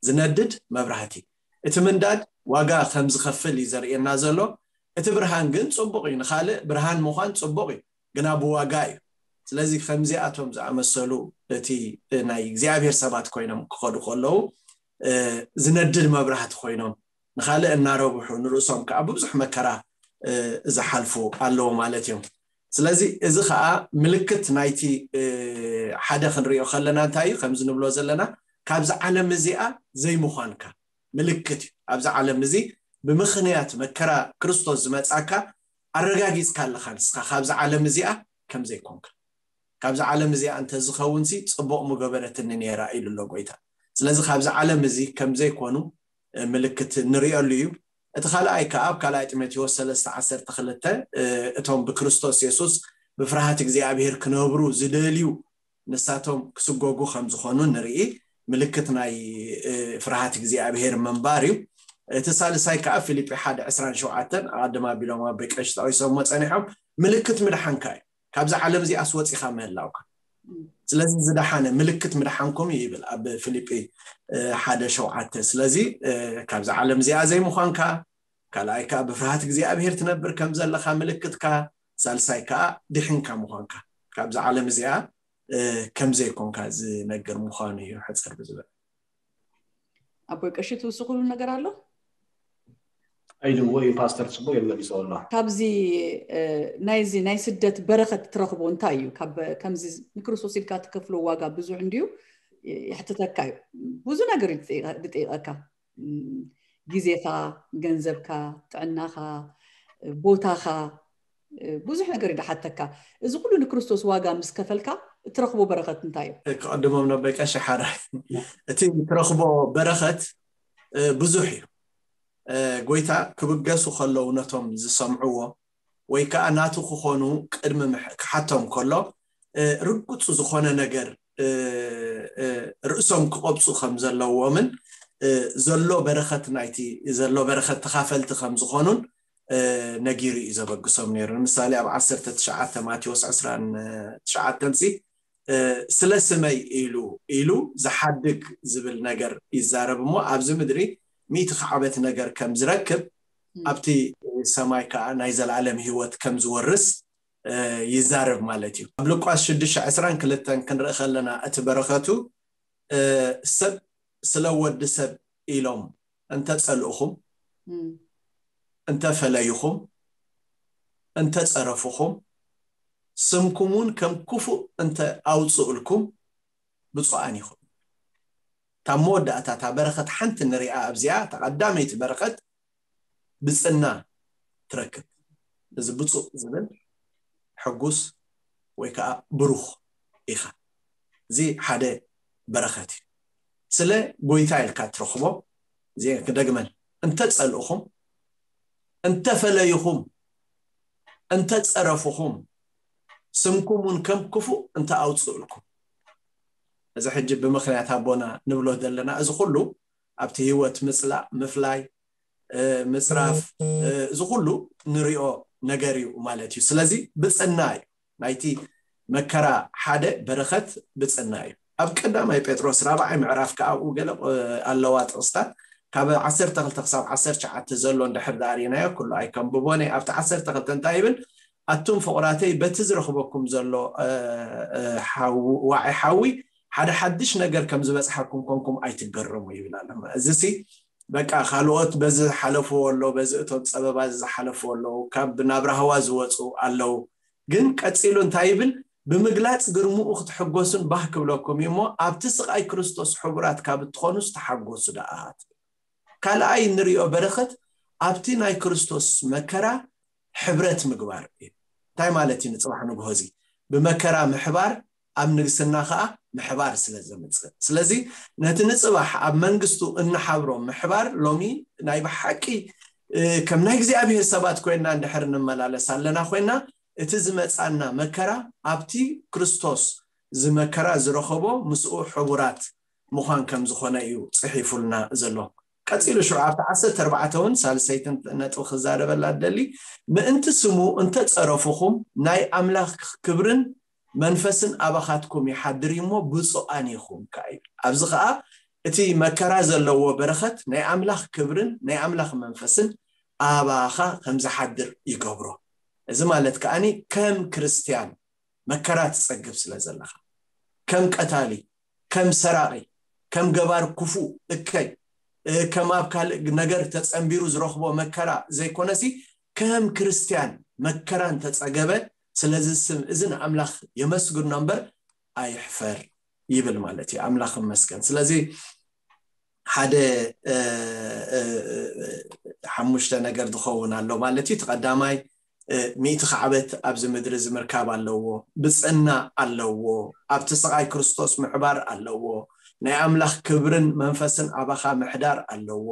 ዝነድድ መብራህቲ እቲ ምንዳድ ዋጋ ከም ዝኸፍል እዩ ዘርእየና ዘሎ። እቲ ብርሃን ግን ፅቡቕ እዩ፣ ንኻልእ ብርሃን ምዃን ፅቡቕ እዩ፣ ግና ብዋጋ እዩ። ስለዚ ከምዚኣቶም ዝኣመሰሉ እቲ ናይ እግዚኣብሔር ሰባት ኮይኖም ክኸዱ ከለዉ ዝነድድ መብራህቲ ኮይኖም፣ ንኻልእ እናረብሑ ንርእሶም ከዓ ብብዙሕ መከራ ዝሓልፉ ኣለዉ ማለት እዮም። ስለዚ እዚ ከዓ ምልክት ናይቲ ሓደ ክንሪኦ ከለና እንታይ እዩ? ከምዚ ንብሎ ዘለና፣ ካብዚ ዓለም እዚኣ ዘይምዃንካ ምልክት እዩ። ኣብዚ ዓለም እዚ ብምኽንያት መከራ ክርስቶስ ዝመጻካ ኣረጋጊጽካ ኣለኻ፣ ንስኻ ካብዚ ዓለም እዚኣ ከም ዘይኮንካ። ካብዚ ዓለም እዚኣ እንተዝኸውን ሲ ጽቡቕ ምገበረትኒ ነይራ ኢሉ ኣሎ ጎይታ። ስለዚ ካብዚ ዓለም እዚ ከም ዘይኮኑ ምልክት ንሪኦሉ እዩ። እቲ ካልኣይ ከዓ ኣብ ካልኣይ ጢሞቴዎስ ሰለስተ ዓሰርተ ክልተ እቶም ብክርስቶስ የሱስ ብፍርሃት እግዚኣብሔር ክነብሩ ዝደልዩ ንሳቶም ክስጎጉ ከም ዝኾኑ ንርኢ። ምልክት ናይ ፍርሃት እግዚኣብሔር ምንባር እዩ። እቲ ሳልሳይ ከዓ ፊልጲ ሓደ ዕስራን ሸውዓተን ኣቐድም ኣቢሎም ኣቦይ ቀሺ ጠቒሶምዎ ጸኒሖም፣ ምልክት ምድሓንካ እዩ። ካብዚ ዓለም እዚኣስ ወፂኻ ምህላውካ። ስለዚ ዝደሓነ ምልክት ምድሓንኩም እዩ ይብል ኣብ ፊልጲ ሓደ ሸውዓተ። ስለዚ ካብዚ ዓለም እዚኣ ዘይምዃንካ፣ ካልኣይ ከዓ ብፍርሃት እግዚኣብሔር ትነብር ከም ዘለኻ ምልክትካ፣ ሳልሳይ ከዓ ድሒንካ ምዃንካ፣ ካብዚ ዓለም እዚኣ ከም ዘይኮንካ ዝነግር ምዃኑ እዩ ሕፅር ብዝበል። ኣቦይ ቀሺ ትውስኽሉ ነገር ኣሎ? ኣይድዎ እዩ ፓስተር ፅቡቅ የመሊሶ ኣሎ። ካብዚ ናይዚ ናይ ስደት በረኸት ትረኽቦ እንታይ እዩ? ከምዚ ንክርስቶስ ኢልካ ትከፍሎ ዋጋ ብዙሕ እንድዩ፣ ይሕትተካ እዩ። ብዙ ነገር ይጥይቐካ፣ ግዜኻ፣ ገንዘብካ፣ ጥዕናኻ፣ ቦታኻ፣ ብዙሕ ነገር ይደሓተካ። እዚ ኩሉ ንክርስቶስ ዋጋ ምስ ከፈልካ እትረኽቦ በረኸት እንታይ እዩ? ክቐድሞም ነበይ ቀሺ ሓራይ፣ እቲ ትረኽቦ በረኸት ብዙሕ እዩ። ጎይታ ክብገሱ ከለዉ ነቶም ዝሰምዕዎ ወይ ከዓ ናቱ ክኾኑ ቅድሚ ክሓቶም ከሎ ርጉፅ ዝኾነ ነገር ርእሶም ክቐብፁ ከም ዘለዎምን ዘሎ በረኸት ናይቲ ዘሎ በረኸት ተኻፈልቲ ከም ዝኾኑን ነጊሩ እዩ ዘበግሶም ነይሩ። ንምሳሌ ኣብ ዓሰርተ ትሽዓተ ማቴዎስ ዕስራን ትሽዓተን ሲ ስለ ስመይ ኢሉ ኢሉ ዝሓድግ ዝብል ነገር ይዛረብ እሞ ኣብዚ ምድሪ ሚእቲ ክዓበት ነገር ከም ዝረክብ ኣብቲ ሰማይ ከዓ ናይ ዘላለም ህይወት ከም ዝወርስ ይዛረብ ማለት እዩ። ኣብ ሉቃስ ሽዱሽተ ዕስራን ክልተን ክንርኢ ከለና እቲ በረኸቱ ሰብ ስለ ወዲ ሰብ ኢሎም እንተፀልእኹም፣ እንተፈለይኹም፣ እንተፀረፍኹም፣ ስምኩም እውን ከም ክፉእ እንተ ኣውፅእልኩም ብፁዓን ኢኹም። ካብ መወዳእታ እታ በረኸት ሓንቲ ንሪኣ ኣብዚኣ፣ እታ ቀዳመይቲ በረኸት ብፅና ትረክብ። እዚ ብፁዕ ዝብል ሕጉስ ወይ ከዓ ብሩኽ ኢኻ። እዚ ሓደ በረኸት እዩ። ስለ ጎይታ ኢልካ ትረኽቦ። እዚ ክደግመን፣ እንተ ጸልእኹም፣ እንተ ፈለይኹም፣ እንተ ጸረፍኹም፣ ስምኩም እውን ከም ክፉእ እንተ ኣውፅእልኩም። እዚ ሕጂ ብምኽንያት ኣቦና ንብሎ ዘለና፣ እዚ ኩሉ ኣብቲ ህይወት ምፅላእ፣ ምፍላይ፣ ምፅራፍ፣ እዚ ኩሉ ንሪኦ ነገር እዩ ማለት እዩ። ስለዚ ብፅና እዩ ናይቲ መከራ ሓደ በረኸት ብፅና እዩ። ኣብ ቀዳማይ ጴጥሮስ ራብዓይ ምዕራፍ ከዓ ኣብኡ ገለ ኣለዋ ጥቕስታት ካብ ዓሰርተ ክልተ ክሳብ ዓሰርተ ትሽዓተ ዘሎ እንድሕር ዳኣ ርኢናዮ ኩሉ ኣይከንብቦን እየ። ኣብቲ ዓሰርተ ክልተ እንታይ ይብል? ኣቱም ፍቑራተይ በቲ ዝረኽበኩም ዘሎ ዋዒ ሓዊ ሓደ ሓድሽ ነገር ከም ዝበፅሓኩም ኮንኩም ኣይትገረሙ ይብል ኣሎ። እዚ ሲ በቃ ካልኦት በዚ ዝሓለፍዎ ኣሎ፣ በዚ እቶም ፀበባ እዚ ዝሓለፍዎ ኣለዉ፣ ካብ ናብ ራህዋ ዝወፁ ኣለዉ። ግን ቀፂሉ እንታይ ይብል? ብምግላፅ ግርምኡ ክትሕጎሱን ባህ ክብለኩም እዩ እሞ ኣብቲ ስቃይ ክርስቶስ ሕቡራት ካብ እትኾኑስ ተሓጎሱ ደኣ ትብል። ካልኣይ እንሪኦ በረኸት ኣብቲ ናይ ክርስቶስ መከራ ሕብረት ምግባር እዩ። እንታይ ማለት እዩ? ንፅባሕ ንግሆ እዚ ብመከራ ምሕባር ኣብ ንግስና ከዓ ምሕባር ስለ ዘምፅእ፣ ስለዚ ነቲ ንፅባሕ ኣብ መንግስቱ እንሓብሮ ምሕባር ሎሚ ናይ ብሓቂ ከም ናይ እግዚኣብሔር ሰባት ኮይና እንድሕር እንመላለስ ኣለና ኮይና እቲ ዝመፃና መከራ ኣብቲ ክርስቶስ ዝመከራ ዝረኸቦ ምስኡ ሕቡራት ምዃን ከም ዝኾነ እዩ ፅሒፉልና ዘሎ። ቀፂሉ ሽዑ ኣብቲ ዓሰርተ ኣርባዕተ እውን ሳልሰይቲ ነጥቢ ክዛረበላ ደሊ ምእንቲ ስሙ እንተፀረፉኹም ናይ ኣምላኽ ክብርን መንፈስን ኣባኻትኩም ይሓድር እዩ እሞ ብፁዓን ኢኹም ከዓ እዩ። ኣብዚ ከዓ እቲ መከራ ዘለዎ በረኸት ናይ ኣምላኽ ክብርን ናይ ኣምላኽ መንፈስን ኣባኻ ከም ዝሓድር ይገብሮ። እዚ ማለት ከዓኒ ከም ክርስትያን መከራ ትጸግብ ስለ ዘለኻ ከም ቀታሊ፣ ከም ሰራቒ፣ ከም ገባር ክፉእ እከይ ከም ኣብ ካልእ ነገር ተጸንቢሩ ዝረኽቦ መከራ ዘይኮነሲ ከም ክርስትያን መከራን ተጸገበ። ስለዚ ስም እዚ ንኣምላኽ የመስግኖ እምበር ኣይሕፈር ይብል ማለት እዩ። ኣምላኽ ይመስገን። ስለዚ ሓደ ሓሙሽተ ነገር ዝኸውን ኣሎ ማለት እዩ። እቲ ቀዳማይ ሚእቲ ካዕበት ኣብዚ ምድሪ እዚ ምርካብ ኣለዎ። ብፅዕና ኣለዎ። ኣብቲ ስቓይ ክርስቶስ ምሕባር ኣለዎ። ናይ ኣምላኽ ክብርን መንፈስን ኣባኻ ምሕዳር ኣለዎ።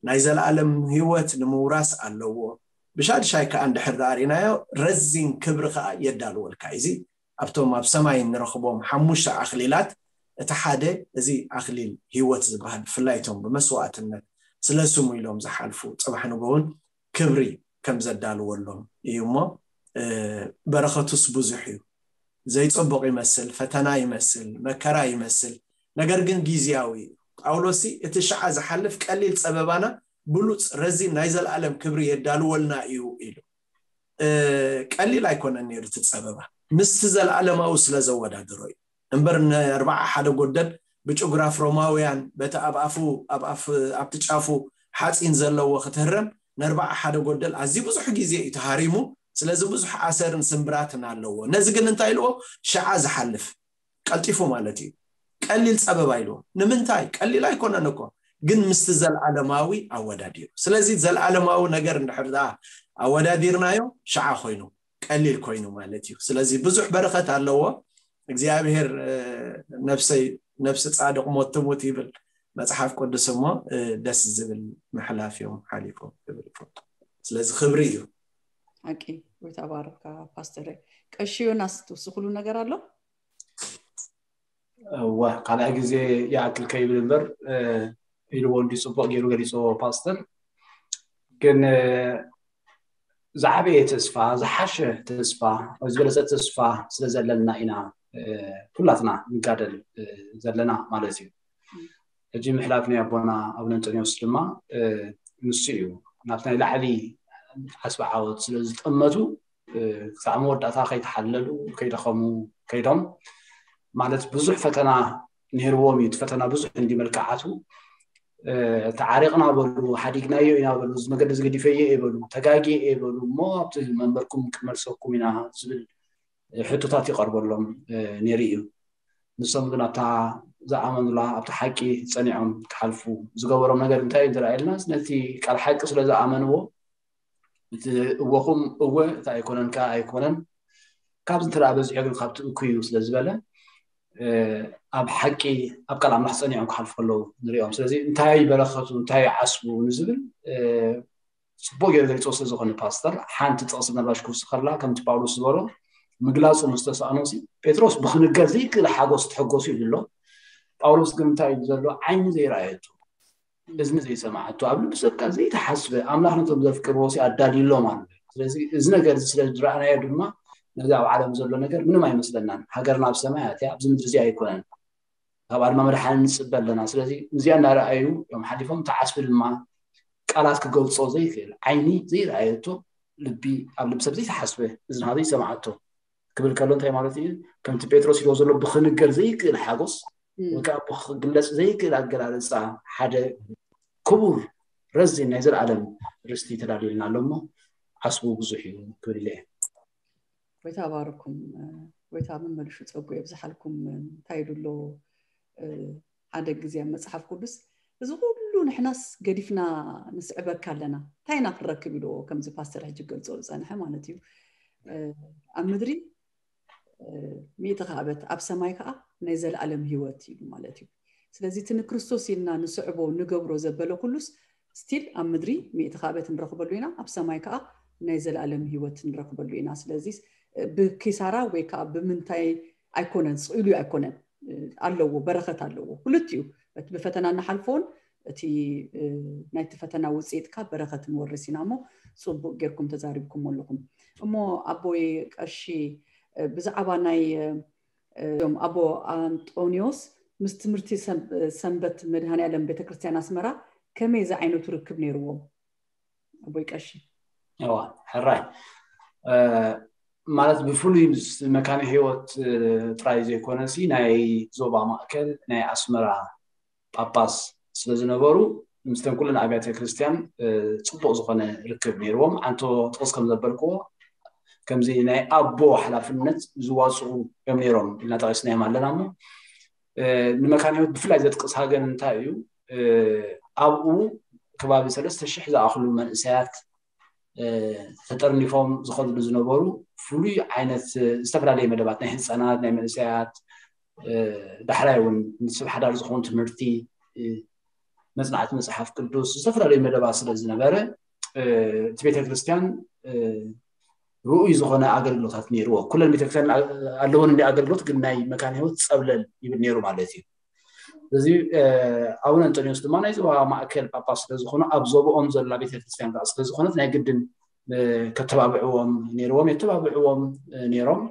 ናይ ዘለኣለም ህይወት ንምውራስ ኣለዎ። ብሻድሻይ ከዓ እንድሕር ደኣ ርኢናዮ ረዚን ክብሪ ከዓ የዳልወልካ እዩ። እዚ ኣብቶም ኣብ ሰማይ እንረኽቦም ሓሙሽተ ኣኽሊላት እቲ ሓደ እዚ ኣኽሊል ህይወት ዝበሃል ብፍላይ እቶም ብመስዋእትነት ስለ ስሙ ኢሎም ዝሓልፉ ፅባሕ ንጎውን ክብሪ ከም ዘዳልወሎም እዩ እሞ በረኸቱስ ብዙሕ እዩ። ዘይፅቡቕ ይመስል፣ ፈተና ይመስል፣ መከራ ይመስል፣ ነገር ግን ግዝያዊ እዩ። ጳውሎስ እቲ ሽዓ ዝሓልፍ ቀሊል ፀበባና ብሉፅ ረዚን ናይ ዘለኣለም ክብሪ የዳልወልና እዩ ኢሉ። ቀሊል ኣይኮነን ነይሩ እቲ ፀበባ ምስቲ ዘለኣለማዊ ስለ ዘወዳድሮ እዩ እምበር ንኣርባዓ ሓደ ጎደል ብጭጉራፍ ሮማውያን በቲ ኣብ ኣፉ ኣብቲ ጫፉ ሓፂን ዘለዎ ክትህረም ንኣርባዓ ሓደ ጎደል ኣዝዩ ብዙሕ ግዜ እዩ ተሃሪሙ። ስለዚ ብዙሕ ኣሰርን ስምብራትን ኣለዎ። ነዚ ግን እንታይ ኢልዎ? ሽዓ ዝሓልፍ ቀልጢፉ ማለት እዩ። ቀሊል ፀበባ ኢልዎ። ንምንታይ? ቀሊል ኣይኮነን እኮ ግን ምስቲ ዘለኣለማዊ ኣወዳዲሩ። ስለዚ ዘለኣለማዊ ነገር እንድሕር ደኣ ኣወዳዲርናዮ ሽዓ ኮይኑ ቀሊል ኮይኑ ማለት እዩ። ስለዚ ብዙሕ በረኸት ኣለዎ። እግዚኣብሔር ነፍሰይ ነፍሲ ፃድቕ ሞት ትሙት ይብል መፅሓፍ ቅዱስ እሞ ደስ ዝብል ምሕላፍ እዮም ሓሊፎም ክብል ይፈቱ። ስለዚ ክብሪ እዩ። ሓቂ ወይ ተባረካ ፓስተር። ቀሺ ዮናስ ትውስክሉ ነገር ኣሎ? እወ ካልኣይ ግዜ ይኣክል ከይብል እምበር ኢልዎ እንዲ ፅቡቅ ገይሩ ገሊፅዎ ፓስተር። ግን ዝዓበየ ተስፋ ዝሓሸ ተስፋ ዝበለፀ ተስፋ ስለ ዘለና ኢና ኩላትና ንጋደል ዘለና ማለት እዩ። ሕጂ ምሕላፍ ናይ ኣቦና ኣቡነ እንጠንዮስ ድማ ንሱ እዩ። ናብቲ ናይ ላዕሊ ዓስቢ ዓወት ስለ ዝጠመቱ ክሳዕ መወዳእታ ከይተሓለሉ ከይደኸሙ ከይዶም ማለት ብዙሕ ፈተና ነይርዎም እዩ። እቲ ፈተና ብዙሕ እንዲ መልክዓቱ ተዓሪቕና በሉ፣ ሓዲግናዮ ኢና በሉ፣ እዚ መገዲ ዝገዲፈዮ እየ በሉ፣ ተጋጊየ እየ በሉ እሞ ኣብቲ መንበርኩም ክመልሰኩም ኢና ዝብል ሕቶታት ይቐርበሎም ነይሩ እዩ። ንሶም ግን ኣብታ ዝኣመኑላ ኣብቲ ሓቂ ፀኒዖም ክሓልፉ ዝገበሮም ነገር እንታይ እዩ እንተረኣየልና ነቲ ቃል ሓቂ ስለ ዝኣመንዎ እቲ እወኹም እወ እቲ ኣይኮነን ከዓ ኣይኮነን ካብዚ እንተ በዚሑ ግን ካብቲ እኩይ እዩ ስለ ዝበለ ኣብ ሓቂ ኣብ ቃል ኣምላኽ ፀኒዖም ክሓልፉ ከለዉ ንሪኦም። ስለዚ እንታይ በረኸቱ እንታይ ዓስቡ ንዝብል ፅቡቅ ገይሩ ገሊፅዎ ስለ ዝኾነ ፓስተር ሓንቲ ጥቕሲ ምናልባሽ ክውስኸላ ከምቲ ጳውሎስ ዝበሎ ምግላፁ ምስ ተሳእኖ ሲ ጴጥሮስ ብክንገር ዘይክእል ሓጎስ ተሐጎሱ ኢሉ ኣሎ። ጳውሎስ ግን እንታይ ኢሉ ዘሎ ዓይኒ ዘይረኣየቱ እዝኒ ዘይሰማዓቱ ኣብ ልቢ ሰብካ ዘይተሓስበ ኣምላኽ ነቶም ዘፍቅርዎ ሲ ኣዳልዩሎም ኣሎ። ስለዚ እዚ ነገር እዚ ስለ ዝረኣናዮ ድማ ነዚ ኣብ ዓለም ዘሎ ነገር ምንም ኣይመስለናን። ሃገርና ኣብ ሰማይ ኣትያ ኣብዚ ምድሪ እዚ ኣይኮነን። ካብኣ ድማ መድሓኒ ንፅበ ኣለና። ስለዚ እዚኣ እናረኣዩ እዮም ሓሊፎም። እቲ ዓስቢ ድማ ቃላት ክገልፆ ዘይክእል ዓይኒ ዘይረኣየቶ ልቢ ኣብ ልቢ ሰብ ዘይተሓስበ እዝኒ ዘይሰማዓቶ ክብል ከሎ እንታይ ማለት እዩ? ከምቲ ጴጥሮስ ኢልዎ ዘሎ ብክንገር ዘይክእል ሓጎስ ወይ ከዓ ብክግለፅ ዘይክእል ኣገላልፃ ሓደ ክቡር ረዚን ናይ ዘለኣለም ርስቲ ተዳልዩልና ኣሎ እሞ ዓስቡ ብዙሕ እዩ ክብል ኢለ እየ። ጎይታ ባርኩም። ጎይታ መመልሹ ፀጉ የብዝሓልኩም። እንታይ ይብሉ ኣሎ ሓደ ግዜ ኣብ መፅሓፍ ቅዱስ እዚ ኩሉ ንሕናስ ገዲፍና ንስዕበካ ኣለና እንታይ ኢና ክንረክብ ኢልዎ ከምዚ ፓስተር ሕጂ ገልፆ ዝፀንሐ ማለት እዩ። ኣብ ምድሪ ሚእቲ ካዕበት ኣብ ሰማይ ከዓ ናይ ዘለኣለም ህይወት ኢሉ ማለት እዩ። ስለዚ እቲ ንክርስቶስ ኢልና ንስዕቦ ንገብሮ ዘበለ ኩሉስ ስቲል ኣብ ምድሪ ሚእቲ ካዕበት ንረኽበሉ ኢና፣ ኣብ ሰማይ ከዓ ናይ ዘለኣለም ህይወት ንረኽበሉ ኢና። ስለዚ ብኪሳራ ወይ ከዓ ብምንታይ ኣይኮነን፣ ስቕ ኢሉ ኣይኮነን፣ ኣለዎ፣ በረኸት ኣለዎ። ክልቲኡ እቲ ብፈተና ንሓልፎን እቲ ናይቲ ፈተና ውፅኢት ከዓ በረኸት ንወርስ ኢና እሞ ፅቡቅ ጌርኩም ተዛሪብኩም ኣለኹም። እሞ ኣቦይ ቀሺ ብዛዕባ ናይ እም ኣቦ ኣንጦኒዎስ ምስ ትምህርቲ ሰንበት መድሃኔ ኣለም ቤተክርስትያን ኣስመራ ከመይ ዝዓይነቱ ርክብ ነይርዎም? ኣቦይ ቀሺ። እዋ ሕራይ ማለት ብፍሉይ ምስ መካነ ህይወት ጥራይ ዘይኮነ ሲ ናይ ዞባ ማእከል ናይ ኣስመራ ጳጳስ ስለ ዝነበሩ፣ ምስተን ኩለን ኣብያተ ክርስቲያን ጽቡቕ ዝኾነ ርክብ ነይርዎም። ኣንቶ ጥቕስ ከም ዘበልክዎ፣ ከምዚ ናይ ኣቦ ሓላፍነት ዝዋፅኡ እዮም ነይሮም ኢልና ጠቂስናዮም ኣለና። እሞ ንመካነ ህይወት ብፍላይ ዘጥቅስ ሃገን እንታይ እዩ? ኣብኡ ከባቢ ሰለስተ ሽሕ ዝኣኽሉ መንእሰያት ተጠርኒፎም ዝኸድሉ ዝነበሩ ፍሉይ ዓይነት ዝተፈላለየ መደባት፣ ናይ ህፃናት፣ ናይ መንእሰያት፣ ዳሕራይ እውን ንስብ ሓዳር ዝኸውን ትምህርቲ፣ መፅናዕቲ መፅሓፍ ቅዱስ፣ ዝተፈላለዩ መደባት ስለ ዝነበረ፣ እቲ ቤተክርስትያን ርኡይ ዝኾነ ኣገልግሎታት ነይርዎ። ኩለን ቤተክርስትያን ኣለወን እንዲ ኣገልግሎት፣ ግን ናይ መካነ ህይወት ፀብለል ይብል ነይሩ ማለት እዩ። እዚ ኣቡነ እንጠንዮስ ድማ ናይ ዞባ ማእከል ጳጳስ ስለ ዝኾኑ፣ ኣብ ዞባኦም ዘላ ቤተክርስትያን ከዓ ስለ ዝኾነት፣ ናይ ግድን ከተባብዕዎም ነይርዎም፣ የተባብዕዎም ነይሮም።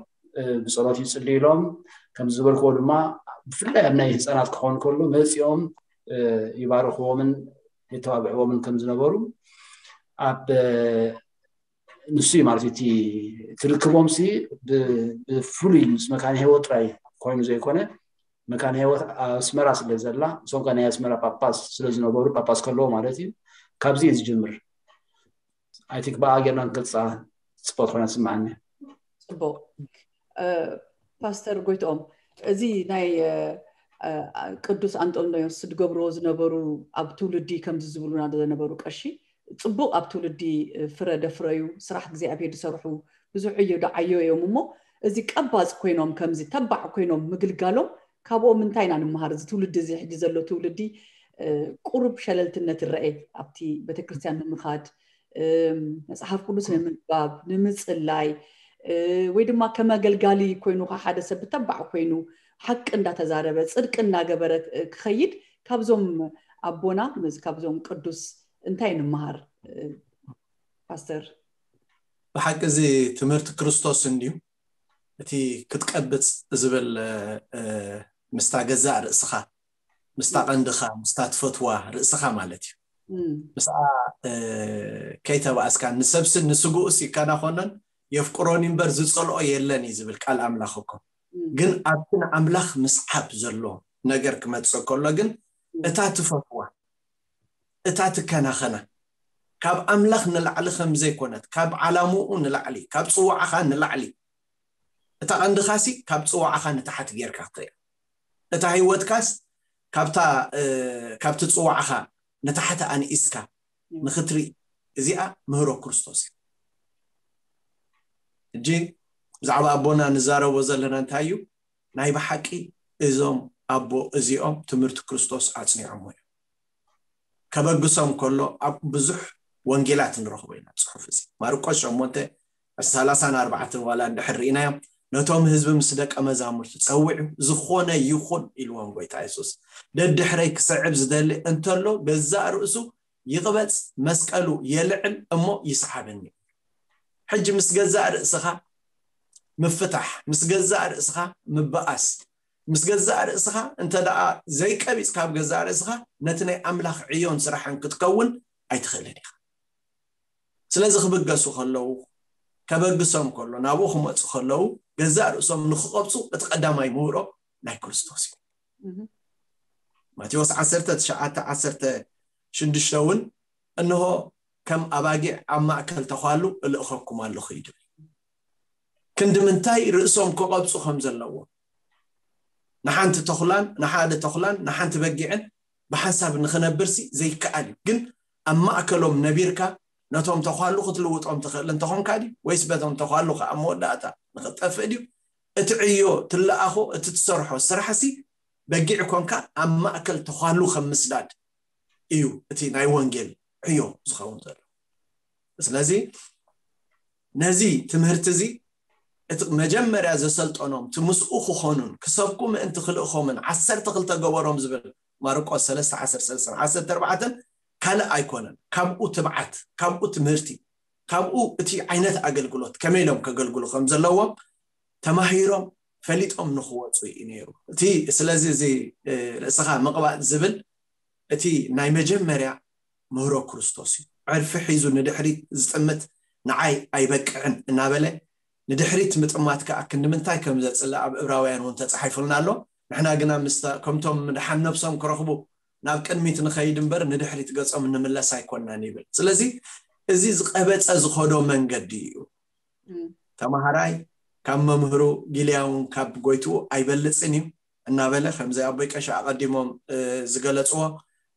ብፀሎት ይፅልዩሎም። ከም ዝበልክዎ ድማ፣ ብፍላይ ኣብ ናይ ህፃናት ክኸውን ከሎ መፂኦም ይባርኽዎምን የተባብዕዎምን ከም ዝነበሩ ኣብ ንሱ እዩ ማለት እዩ። እቲ ትርክቦም ሲ ብፍሉይ ምስ መካነ ህይወት ጥራይ ኮይኑ ዘይኮነ፣ መካነ ህይወት ኣስመራ ስለ ዘላ፣ እሶም ከ ናይ ኣስመራ ጳጳስ ስለ ዝነበሩ፣ ጳጳስ ከለዎ ማለት እዩ፣ ካብዚ እዩ ዝጅምር። ኣይ ቲንክ ብኣ ጌርና ንገልፃ ጽቡቅ ኮይና ትስምዓኒ። ጽቡቅ። ፓስተር ጎይትኦም፣ እዚ ናይ ቅዱስ ኣንጦንዮስ ዝገብርዎ ዝነበሩ፣ ኣብ ትውልዲ ከምዚ ዝብሉና ዝነበሩ ቀሺ ጽቡቕ ኣብ ትውልዲ ፍረ ደፍረዩ፣ ስራሕ እግዚኣብሔር ዝሰርሑ ብዙሕ ዕዮ ደዓዮ እዮም። እሞ እዚ ቀባጽ ኮይኖም፣ ከምዚ ተባዕ ኮይኖም ምግልጋሎም ካብኦም እንታይ ኢና ንምሃር? እዚ ትውልዲ፣ እዚ ሕጂ ዘሎ ትውልዲ ቁሩብ ሸለልትነት ይረአ ኣብቲ ቤተክርስትያን ንምኻድ፣ መፅሓፍ ቅዱስ ንምንባብ፣ ንምፅላይ፣ ወይ ድማ ከም ኣገልጋሊ ኮይኑ፣ ሓደ ሰብ ብተባዕ ኮይኑ ሓቂ እንዳተዛረበ፣ ፅድቂ እናገበረ ክኸይድ፣ ካብዞም ኣቦና፣ ካብዞም ቅዱስ እንታይ ንምሃር? ፓስተር። ብሓቂ እዚ ትምህርቲ ክርስቶስ እንድዩ። እቲ ክትቀብጽ ዝብል ምስታ ገዛእ ርእስኻ፣ ምስታ ቀንድኻ፣ ምስታ ትፈትዋ ርእስኻ ማለት እዩ። ምስኣ ከይተባእስካ፣ ንሰብሲ ንስግኡስ ይከናኸኖን የፍቅሮን እምበር ዝጸልኦ የለን እዩ ዝብል ቃል ኣምላኽ እኮ። ግን ኣብቲ ንኣምላኽ ምስዓብ ዘሎ ነገር ክመጽእ ከሎ ግን፣ እታ ትፈትዋ፣ እታ ትከናኸና፣ ካብ ኣምላኽ ንላዕሊ ከም ዘይኮነት፣ ካብ ዓላምኡ ንላዕሊ፣ ካብ ጽዋዕኻ ንላዕሊ፣ እታ ቀንድኻሲ ካብ ጽዋዕኻ ንታሕቲ ጌርካ ክትሪኣ፣ እታ ህይወትካስ ካብታ ካብቲ ጽዋዕኻ ንታሕቲ ኣንኢስካ ንኽትርኢ፣ እዚኣ ምህሮ ክርስቶስ እዩ። ሕጂ ብዛዕባ ኣቦና ንዛረቦ ዘለና እንታይ እዩ? ናይ ብሓቂ እዞም ኣቦ እዚኦም ትምህርቲ ክርስቶስ ኣጽኒዖሞ እዮም። ከበግሶም ከሎ ኣብ ብዙሕ ወንጌላት ንረኽቦ ኢና። ጽሑፍ እዚ ማርቆስ ሸሞንተ፣ ሰላሳን ኣርባዕተን ዋላ እንድሕር ርኢናዮም፣ ነቶም ህዝቢ ምስ ደቀ መዛሙርቱ ጸዊዑ፣ ዝኾነ ይኹን ኢልዎም ጎይታ የሱስ። ደድሕረይ ክስዕብ ዝደሊ እንተሎ፣ ገዛእ ርእሱ ይቕበጽ፣ መስቀሉ የልዕል፣ እሞ ይስዓበኒ። ሕጂ ምስ ገዛእ ርእስኻ ምፍታሕ፣ ምስ ገዛእ ርእስኻ ምበኣስ፣ ምስ ገዛእ ርእስኻ እንተ ደኣ ዘይቀቢጽካ ኣብ ገዛእ ርእስኻ፣ ነቲ ናይ ኣምላኽ ዕዮን ስራሕን ክትከውን ኣይትኽእልን ኢኻ። ስለዚ ክብገሱ ከለዉ፣ ከበግሶም ከሎ፣ ናብኡ ክመጹ ከለዉ፣ ገዛእ ርእሶም ንኽቐብጹ እቲ ቀዳማይ ምህሮ ናይ ክርስቶስ እዩ። ማቴዎስ ዓሰርተ ትሽዓተ ዓሰርተ ሽዱሽተ እውን፣ እንሆ ከም ኣባጊዕ ኣብ ማእከል ተዃሉ እልእኸኩም ኣለኹ እዩ ዝብል። ክንዲ ምንታይ ርእሶም ክቐብጹ ከም ዘለዎ፣ ንሓንቲ ተኹላን ንሓደ ተኹላን ንሓንቲ በጊዕን ብሓንሳብ ንኽነብርሲ ዘይከኣል እዩ። ግን ኣብ ማእከሎም ነቢርካ ነቶም ተዃሉ ክትልውጦም ትኽእል እንተኾንካ ድዩ? ወይስ በቶም ተዃሉ ከኣ ኣብ መወዳእታ ንኽትጠፍእ ድዩ? እቲ ዕዮ ትለኣኾ፣ እቲ ትሰርሖ ስራሕሲ በጊዕ ኮንካ ኣብ ማእከል ተዃሉ ከም ምስዳድ እዩ እቲ ናይ ወንጌል ዕዮ ዝኸውን ዘሎ። ስለዚ ነዚ ትምህርቲ እዚ እቲ መጀመርያ ዘሰልጠኖም፣ እቲ ምስኡ ክኾኑን ክሰብኩ ምእንቲ ክልእኾምን ዓሰርተ ክልተ ገበሮም ዝብል ማርቆስ ሰለስተ ዓሰርተ ሰለስተ ዓሰርተ ኣርባዕተ ካልእ ኣይኮነን። ካብኡ ትብዓት፣ ካብኡ ትምህርቲ፣ ካብኡ እቲ ዓይነት ኣገልግሎት ከመይ ኢሎም ከገልግሉ ከም ዘለዎም ተማሂሮም ፈሊጦም ንኽወፁ እዩ ነይሩ። እቲ ስለዚ እዚ ርእስኻ ምቕባእ ዝብል እቲ ናይ መጀመርያ ምህሮ ክርስቶስ እዩ። ዕርፊ ሒዙ ንድሕሪት ዝጥምት ንዓይ ኣይበቅዕን እናበለ ንድሕሪት ምጥማት ከዓ ክንዲ ምንታይ ከም ዘፅልእ ኣብ ዕብራውያን እውን ተፃሒፉልና ኣሎ። ንሕና ግና ምስታ ከምቶም ምድሓን ነብሶም ክረኽቡ ናብ ቅድሚት ንኸይድ እምበር ንድሕሪት ገጾም እንምለስ ኣይኮናን ይብል። ስለዚ እዚ ዝቐበጸ ዝኸዶ መንገዲ እዩ። ተማሃራይ ካብ መምህሩ፣ ጊልያ እውን ካብ ጎይትኡ ኣይበልጽን እዩ እናበለ፣ ከምዚ ኣቦይ ቀሺ ኣቐዲሞም ዝገለጽዎ፣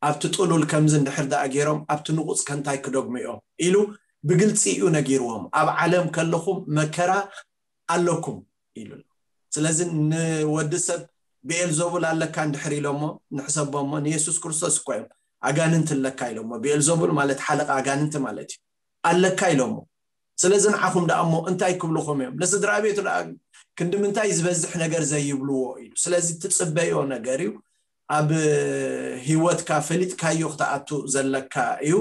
ኣብቲ ጥሉል ከምዚ እንድሕር ደኣ ገይሮም ኣብቲ ንቑጽ ከ እንታይ ክደግሙ እዮም ኢሉ ብግልጺ እዩ ነጊርዎም። ኣብ ዓለም ከለኹም መከራ ኣለኩም ኢሉ። ስለዚ ንወዲ ሰብ ብኤልዞቡል ኣለካ እንድሕር ኢሎሞ ንሕሰቦሞ፣ ንየሱስ ክርስቶስ እኮ እዮም ኣጋንንቲ ኣለካ ኢሎሞ። ብኤልዞቡል ማለት ሓለቃ ኣጋንንቲ ማለት እዩ። ኣለካ ኢሎሞ። ስለዚ ንዓኹም ደኣ እሞ እንታይ ክብልኹም እዮም? ንስድራ ቤቱ ደኣ ክንዲ ምንታይ ዝበዝሕ ነገር ዘይብልዎ ኢሉ። ስለዚ ትጽበዮ ነገር እዩ። ኣብ ህይወትካ ፈሊጥካዮ ክትኣቱ ዘለካ እዩ።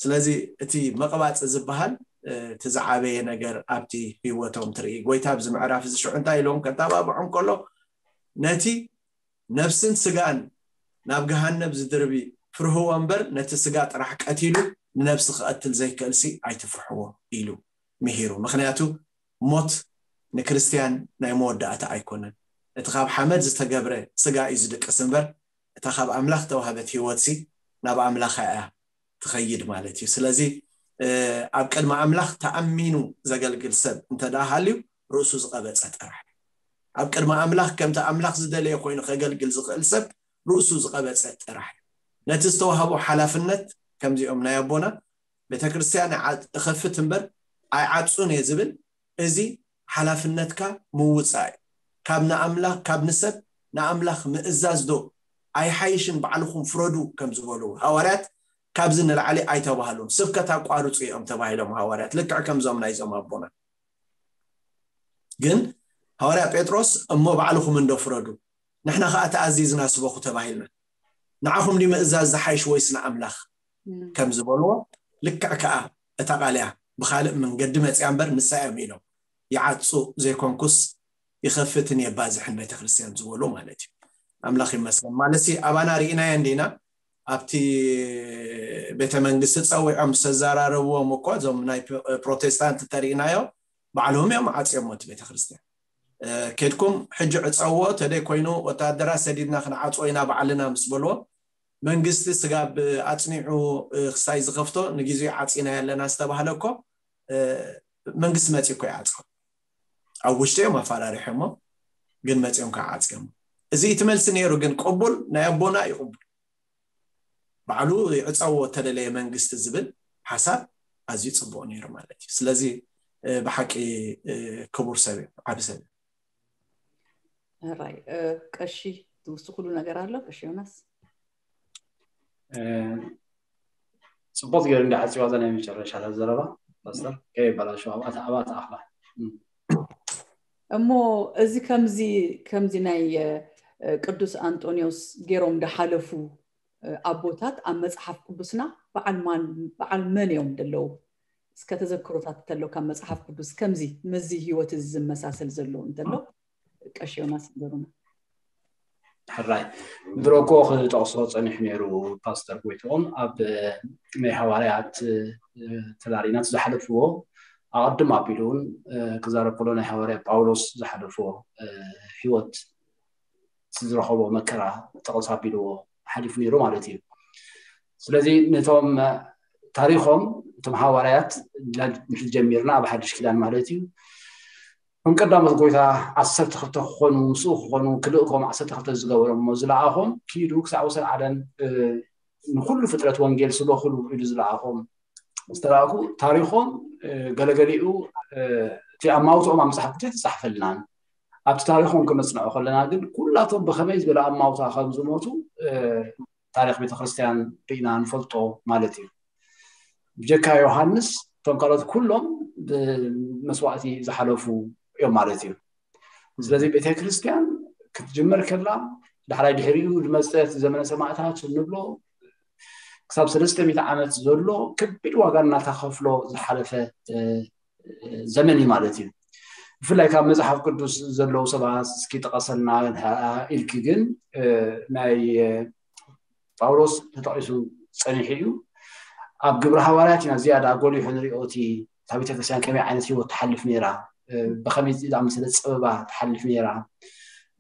ስለዚ እቲ መቕባጽ ዝበሃል እቲ ዝዓበየ ነገር ኣብቲ ህይወቶም ትርኢ። ጎይታ ኣብዚ ምዕራፍ እዚ ሽዑ እንታይ ኢሎም ከተባብዖም ከሎ፣ ነቲ ነፍስን ስጋን ናብ ገሃነብ ዝድርቢ ፍርህዎ እምበር ነቲ ስጋ ጥራሕ ቀቲሉ ንነፍሲ ክቐትል ዘይክእልሲ ኣይትፍርሕዎ ኢሉ ምሂሩ። ምኽንያቱ ሞት ንክርስትያን ናይ መወዳእታ ኣይኮነን። እቲ ካብ ሓመድ ዝተገብረ ስጋ እዩ ዝድቅስ እምበር እታ ካብ ኣምላኽ ተዋህበት ህይወትሲ ናብ ኣምላኻ እያ ትኸይድ ማለት እዩ። ስለዚ ኣብ ቅድሚ ኣምላኽ ተኣሚኑ ዘገልግል ሰብ እንተ ደኣ ሃልዩ ርእሱ ዝቐበጸ ጥራሕ እዩ። ኣብ ቅድሚ ኣምላኽ ከምቲ ኣምላኽ ዝደለየ ኮይኑ ከገልግል ዝኽእል ሰብ ርእሱ ዝቐበጸ ጥራሕ እዩ። ነቲ ዝተዋህቦ ሓላፍነት ከምዚኦም ናይ ኣቦና ቤተ ክርስቲያን እኸፍት እምበር ኣይዓጹን እየ ዝብል፣ እዚ ሓላፍነትካ ምውጻእ እዩ። ካብ ንኣምላኽ፣ ካብ ንሰብ ንኣምላኽ ምእዛዝ ዶ ኣይሓይሽን? ባዕልኹም ፍረዱ ከም ዝበሉ ሃዋርያት ካብዚ ንላዕሊ ኣይተባህሉን። ስብከት ኣቋርጹ እዮም ተባሂሎም ሃዋርያት፣ ልክዕ ከምዞም ናይዞም ኣቦና። ግን ሃዋርያ ጴጥሮስ እሞ ባዕልኹም እንዶ ፍረዱ፣ ንሕና ኸኣ ተኣዚዝና ስበኹ ተባሂልና፣ ንዓኹም ድዩ ምእዛዝ ዝሓይሽ ወይስ ንኣምላኽ ከም ዝበልዎ ልክዕ ከኣ እታ ቃል እያ ብኻልእ መንገዲ መጽያ እምበር ንሳ እዮም ኢሎም ይዓጹ ዘይኮንኩስ ይኸፍትን የባዝሕን ቤተክርስትያን ዝበሉ ማለት እዩ። ኣምላኽ ይመስገን። ማለትሲ ኣባና ርኢናዮ እንዲና ኣብቲ ቤተ መንግስቲ ጸዊዖም ዝተዘራረብዎም እኮ እዞም ናይ ፕሮቴስታንት ተርኢናዮ ባዕሎም እዮም ዓጽዮሞ እቲ ቤተክርስትያን። ኬድኩም ሕጂ ዕጸዎ፣ ተደይ ኮይኑ ወታደራት ሰዲድና ክንዓጽዎ ኢና ባዕልና ምስ በልዎ መንግስቲ ስጋብ ኣጽኒዑ ክሳይ ዝኸፍቶ ንግዜኡ ዓጺና ያለና ዝተባህለ እኮ መንግስቲ መጺኡ እኮ ይዓጽዎ። ኣብ ውሽጢ እዮም ኣፈራሪሖሞ፣ ግን መጺኦም ከዓ ዓጽዮሞ። እዚ እቲ መልሲ ነይሩ፣ ግን ቅቡል ናይ ኣቦና እዩ ቅቡል። ባዕሉ ይዕጸዎ እተደለየ መንግስቲ ዝብል ሓሳብ ኣዝዩ ጽቡቕ ነይሩ ማለት እዩ። ስለዚ ብሓቂ ክቡር ሰብ እዩ፣ ዓቢ ሰብ እዩ። ራይ ቀሺ ትውስኩሉ ነገር ኣሎ ቀሺ ዮናስ? ጽቡቅ ገይሩ እንዳዓጽዋ እዛ ናይ መጨረሻ ዘረባ ፓስተር ከይበላሸው ኣብኣ ኣብኣ ተኣኽላ። እሞ እዚ ከምዚ ከምዚ ናይ ቅዱስ ኣንጦንዮስ ገይሮም እንዳሓለፉ ኣቦታት ኣብ መጽሓፍ ቅዱስና በዓል ማን በዓል መን እዮም ደለዉ? እስከ ተዘክሮታት እንተሎ ካብ መጽሓፍ ቅዱስ ከምዚ ምስዚ ህይወት እዚ ዝመሳሰል ዘሎ እንተሎ ቀሺ ዮናስ ንገሩና። ሕራይ ድሮ እኮ ክጠቕሶ ጸኒሑ ነይሩ ፓስተር ጎይትኦም ኣብ ናይ ሃዋርያት ተላሪናት ዝሓለፍዎ ኣቐድም ኣቢሉ እውን ክዛረብ ከሎ ናይ ሃዋርያ ጳውሎስ ዝሓለፍዎ ህይወት ዝረኸቦ መከራ ጠቕስ ኣቢልዎ ሓሊፉ ነይሩ ማለት እዩ። ስለዚ ነቶም ታሪኾም እቶም ሃዋርያት ጀሚርና ኣብ ሓድሽ ኪዳን ማለት እዩ ከም ቀዳሞት ጎይታ ዓሰርተ ክልተ ክኾኑ ምስኡ ክኾኑ ክልእኮም ዓሰርተ ክልተ ዝገበሮም እሞ ዝለኣኾም ኪዱ ክሳብ ወሰን ዓለም ንኩሉ ፍጥረት ወንጌል ስበኹሉ ኢሉ ዝለኣኾም ዝተላእኩ ታሪኾም ገለገሊኡ እቲ ኣማውትኦም ኣብ መፅሓፍ ቅዱስ ተፃሕፈልናን ኣብቲ ታሪኾም ክነፅንዖ ከለና ግን ኩላቶም ብኸመይ ዝበለ ኣማውታ ከም ዝሞቱ ታሪክ ቤተክርስትያን ርኢና ንፈልጦ ማለት እዩ። ብጀካ ዮሃንስ እቶም ካልኦት ኩሎም ብመስዋእቲ ዝሓለፉ እዮም ማለት እዩ። ስለዚ ቤተክርስትያን ክትጅመር ከላ ዳሕራይ ድሕሪኡ ዝመፀት ዘመነ ሰማእታት እንብሎ ክሳብ ሰለስተ ሚእቲ ዓመት ዘሎ ከቢድ ዋጋ እናተኸፍሎ ዝሓለፈ ዘመን እዩ ማለት እዩ። ብፍላይ ካብ መፅሓፍ ቅዱስ ዘለዉ ሰባት እስኪ ጥቀሰልና ኢልኪ ግን ናይ ጳውሎስ ተጠቂሱ ፀኒሑ እዩ። ኣብ ግብሪ ሃዋርያት ኢና ዝያዳ ጎሊሑ ንሪኦ እቲ እታ ቤተክርስትያን ከመይ ዓይነት ህይወት ትሓልፍ ነይራ፣ ብኸመይ ዝኣመሰለ ፀበባ ትሓልፍ ነይራ፣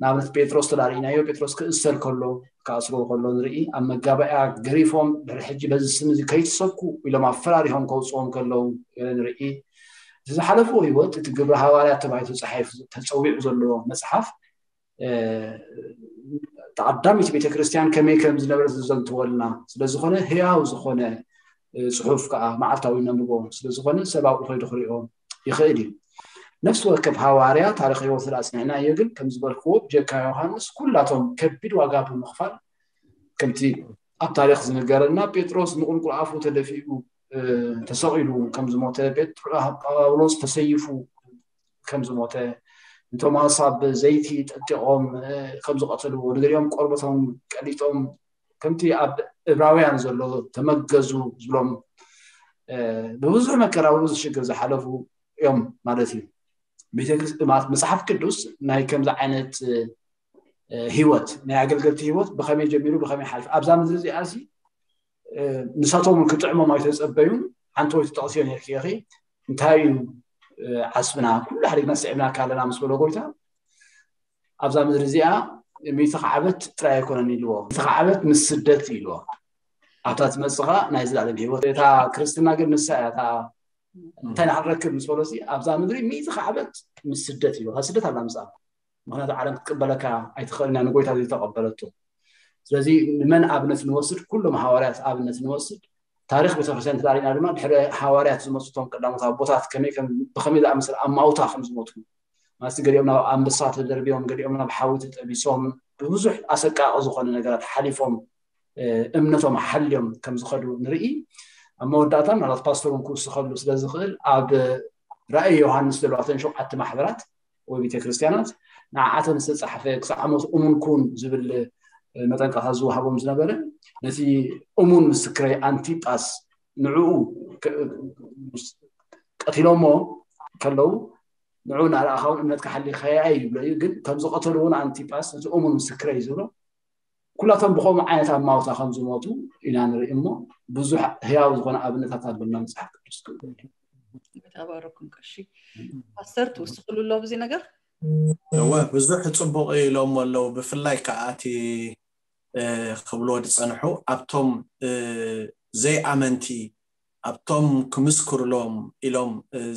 ንኣብነት ጴጥሮስ ተዳሪእናዮ፣ ጴጥሮስ ክእሰር ከሎ፣ ክኣስርዎ ከሎ ንርኢ። ኣብ መጋባእያ ገሪፎም፣ ድሕሪ ሕጂ በዚ ስም እዚ ከይትሰብኩ ኢሎም ኣፈራሪሆም ከውፅዎም ከለዉ ንርኢ። እቲ ዝሓለፍዎ ህይወት፣ እቲ ግብሪ ሃዋርያ ተባሂሉ ተፃሒፉ ተፀዊዑ ዘሎ መፅሓፍ፣ ተቐዳሚት ቤተክርስትያን ከመይ ከም ዝነበረት ዝዘንትወልና ስለዝኾነ፣ ህያው ዝኾነ ጽሑፍ ከዓ መዓልታዊ ነንብቦ ስለዝኾነ፣ ሰብ ኣብኡ ከይዱ ክሪኦ ይኽእል እዩ። ነፍሲ ወከፍ ሃዋርያ ታሪኽ ህይወት ስለ ኣጽኒዕናዮ ግን፣ ከም ዝበልክዎ፣ ብጀካ ዮሃንስ ኩላቶም ከቢድ ዋጋ ብምኽፋል፣ ከምቲ ኣብ ታሪኽ ዝንገረና፣ ጴጥሮስ ንቁልቁል ኣፉ ተደፊኡ ተሰቒሉ ከም ዝሞተ፣ ጳውሎስ ተሰይፉ ከም ዝሞተ፣ ንቶማስ ኣብ ዘይቲ ጠጢቖም ከም ዝቐተልዎ፣ ንገሊኦም ቆርበቶም ቀሊጦም፣ ከምቲ ኣብ እብራውያን ዘሎ፣ ተመገዙ ዝብሎም፣ ብብዙሕ መከራ፣ ብብዙሕ ሽግር ዝሓለፉ እዮም ማለት እዩ። ቤተክርስ- ማለት መጽሓፍ ቅዱስ ናይ ከምዚ ዓይነት ህይወት፣ ናይ ኣገልገልቲ ህይወት ብኸመይ ጀሚሩ ብኸመይ ሓልፍ ኣብዛ ምድሪ እዚኣ ሲ ንሳቶም እውን ክጥዕሞም ኣይተጸበዩን። ሓንቲ ወይ ትጠቕስዮ ነርኪ ኢኺ፣ እንታይ እዩ ዓስብና፣ ኩሉ ሓዲግና ስዒብናካ ኣለና ምስ በሎ ጎይታ፣ ኣብዛ ምድሪ እዚኣ ሚእቲ ዓመት ጥራይ ኣይኮነን ኢልዎ፣ ሚእቲ ዓመት ምስ ስደት ኢልዎ። ኣብታ ትመጽኻ ናይ ዘላለም ህይወት፣ እታ ክርስትና ግን ንሳ እያ። እታ እንታይ ንክንረክብ ምስ በሎ፣ ኣብዛ ምድሪ ሚእቲ ዓመት ምስ ስደት ኢልዎ። ስደት ኣላ ምስኣ፣ ምክንያቱ ዓለም ክትቅበለካ ኣይትኽእልና፣ ንጎይታ ዘይተቐበለቶ። ስለዚ ንመን ኣብነት ንወስድ? ኩሎም ሃዋርያት ኣብነት ንወስድ። ታሪኽ ቤተክርስትያን ተዳሪና ድማ ድሕሪ ሃዋርያት ዝመፁ እቶም ቀዳሞት ኣቦታት ከመይ ከም ብኸመይ ዝኣመሰለ ኣማውታ ከም ዝሞቱ፣ ማለት ገሊኦም ናብ ኣንበሳ ተደርቢዮም፣ ገሊኦም ናብ ሓዊ ተጠቢሶም፣ ብብዙሕ ኣሰቃቂ ዝኾነ ነገራት ሓሊፎም፣ እምነቶም ሓልዮም ከም ዝኸዱ ንርኢ። ኣብ መወዳእታ ምናልባት ፓስተር እውን ክውስኸሉ ስለ ዝኽእል፣ ኣብ ራእይ ዮሃንስ ዘለዋ እተን ሸውዓተ ማሕበራት ወይ ቤተክርስትያናት ንዓዓተን ዝተፃሕፈ ክሳዕ ሞት እሙን ኩን ዝብል መጠንቀቕታ ዝወሃቦም ዝነበረ፣ ነቲ እሙን ምስክረይ ኣንቲጳስ ንዕኡ ቀቲሎሞ ከለዉ፣ ንዕኡ እናረኣኻ እውን እምነትካ ሓሊኻያ እዩ ይብሎ እዩ። ግን ከም ዝቐተልዎ ንኣንቲጳስ ነቲ እሙን ምስክረይ ዝብሎ፣ ኩላቶም ብኸምኡ ዓይነት ኣማውታ ከም ዝሞቱ ኢና ንርኢ እሞ፣ ብዙሕ ህያው ዝኾነ ኣብነታት ኣሎና መጽሓፍ ቅዱስ ክብል። ተባረኩም ቀሺ። ፓስተር ትውስኽሉ ኣሎ ኣብዚ ነገር? እወ፣ ብዙሕ ጽቡቕ ኢሎም ኣለዉ። ብፍላይ ከዓ እቲ ክብልዎ ዝጸንሑ ኣብቶም ዘይኣመንቲ፣ ኣብቶም ክምስክሩሎም ኢሎም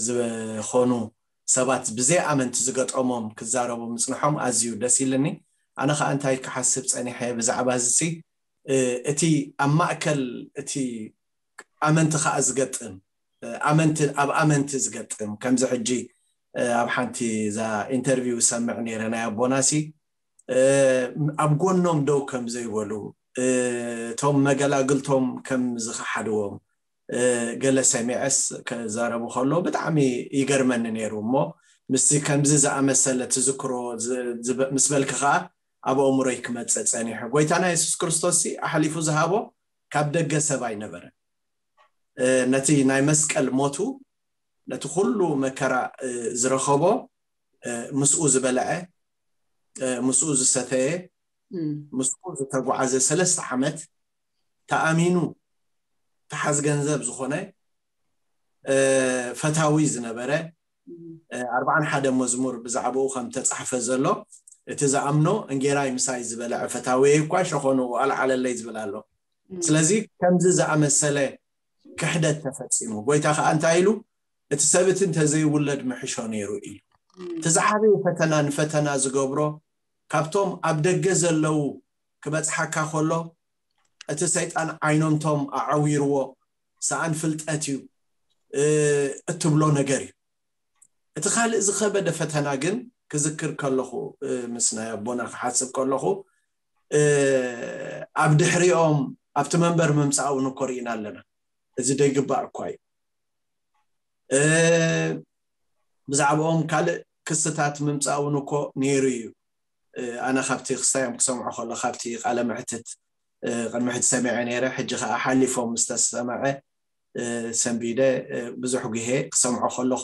ዝኾኑ ሰባት ብዘይኣመንቲ ዝገጠሞም ክዛረቡ ምጽንሖም ኣዝዩ ደስ ኢልኒ። ኣነ ከዓ እንታይ ክሓስብ ጸኒሐ ብዛዕባ እዚ፣ እቲ ኣብ ማእከል እቲ ኣመንቲ ከዓ ዝገጥም፣ ኣመንቲ ኣብ ኣመንቲ ዝገጥም፣ ከምዚ ሕጂ ኣብ ሓንቲ እዛ ኢንተርቪው ዝሰምዕ ነይረ ናይ ኣቦናሲ፣ ኣብ ጎኖም ደው ከም ዘይበሉ፣ እቶም መገላግልቶም ከም ዝኸሓድዎም ገለ ሰሚዐስ ክዛረቡ ከሎ ብጣዕሚ ይገርመኒ ነይሩ። እሞ ምስዚ ከምዚ ዝኣመሰለ ትዝክሮ ምስ በልኪ ከዓ ኣብ ኣእምሮይ ክመፅእ ፀኒሑ። ጎይታና የሱስ ክርስቶስ ኣሕሊፉ ዝሃቦ ካብ ደገ ሰብ ኣይነበረን። ነቲ ናይ መስቀል ሞቱ፣ ነቲ ኩሉ መከራ ዝረኸቦ፣ ምስኡ ዝበልዐ፣ ምስኡ ዝሰተየ፣ ምስኡ ዝተጓዓዘ፣ ሰለስተ ዓመት ተኣሚኑ ተሓዝ ገንዘብ ዝኾነ ፈታዊ ዝነበረ፣ ኣርባዓን ሓደ መዝሙር ብዛዕባኡ ከም ተጻሕፈ ዘሎ፣ እቲ ዝኣምኖ እንጌራይ ምሳይ ዝበልዐ ፈታዊየይ እኳ ሸኾኑ ኣልዓለለይ ዝብል ኣሎ። ስለዚ ከምዚ ዝኣመሰለ ክሕደት ተፈጺሙ፣ ጎይታ ከዓ እንታይ ኢሉ? እቲ ሰብ እቲ እንተዘይውለድ ምሕሾ ነይሩ ኢሉ። እቲ ዝዓበየ ፈተና ንፈተና ዝገብሮ፣ ካብቶም ኣብ ደገ ዘለዉ ክበጽሓካ ከሎ፣ እቲ ሰይጣን ዓይኖምቶም ኣዓዊርዎ፣ ሰኣን ፍልጠት እዩ እትብሎ ነገር እዩ። እቲ ካልእ ዝኸበደ ፈተና ግን ክዝክር ከለኹ፣ ምስ ናይ ኣቦና ክሓስብ ከለኹ፣ ኣብ ድሕሪኦም ኣብቲ መንበር ምምፃእ እውን እኮ ርኢና ኣለና። እዚ ደይግባእ እኳ እዩ። ብዛዕባኦም ካልእ ክስታት ምምፃእ እውን እኮ ነይሩ እዩ። ኣነ ካብቲ ክስታዮም ክሰምዖ ከሎ፣ ካብቲ ቃለ መሕትት ቅድሚ ሕጂ ሰሚዐ ነይረ፣ ሕጂ ከዓ ሓሊፎም ዝተሰምዐ ሰንቢደ ብዙሕ ግሄ ክሰምዖ ከለኹ፣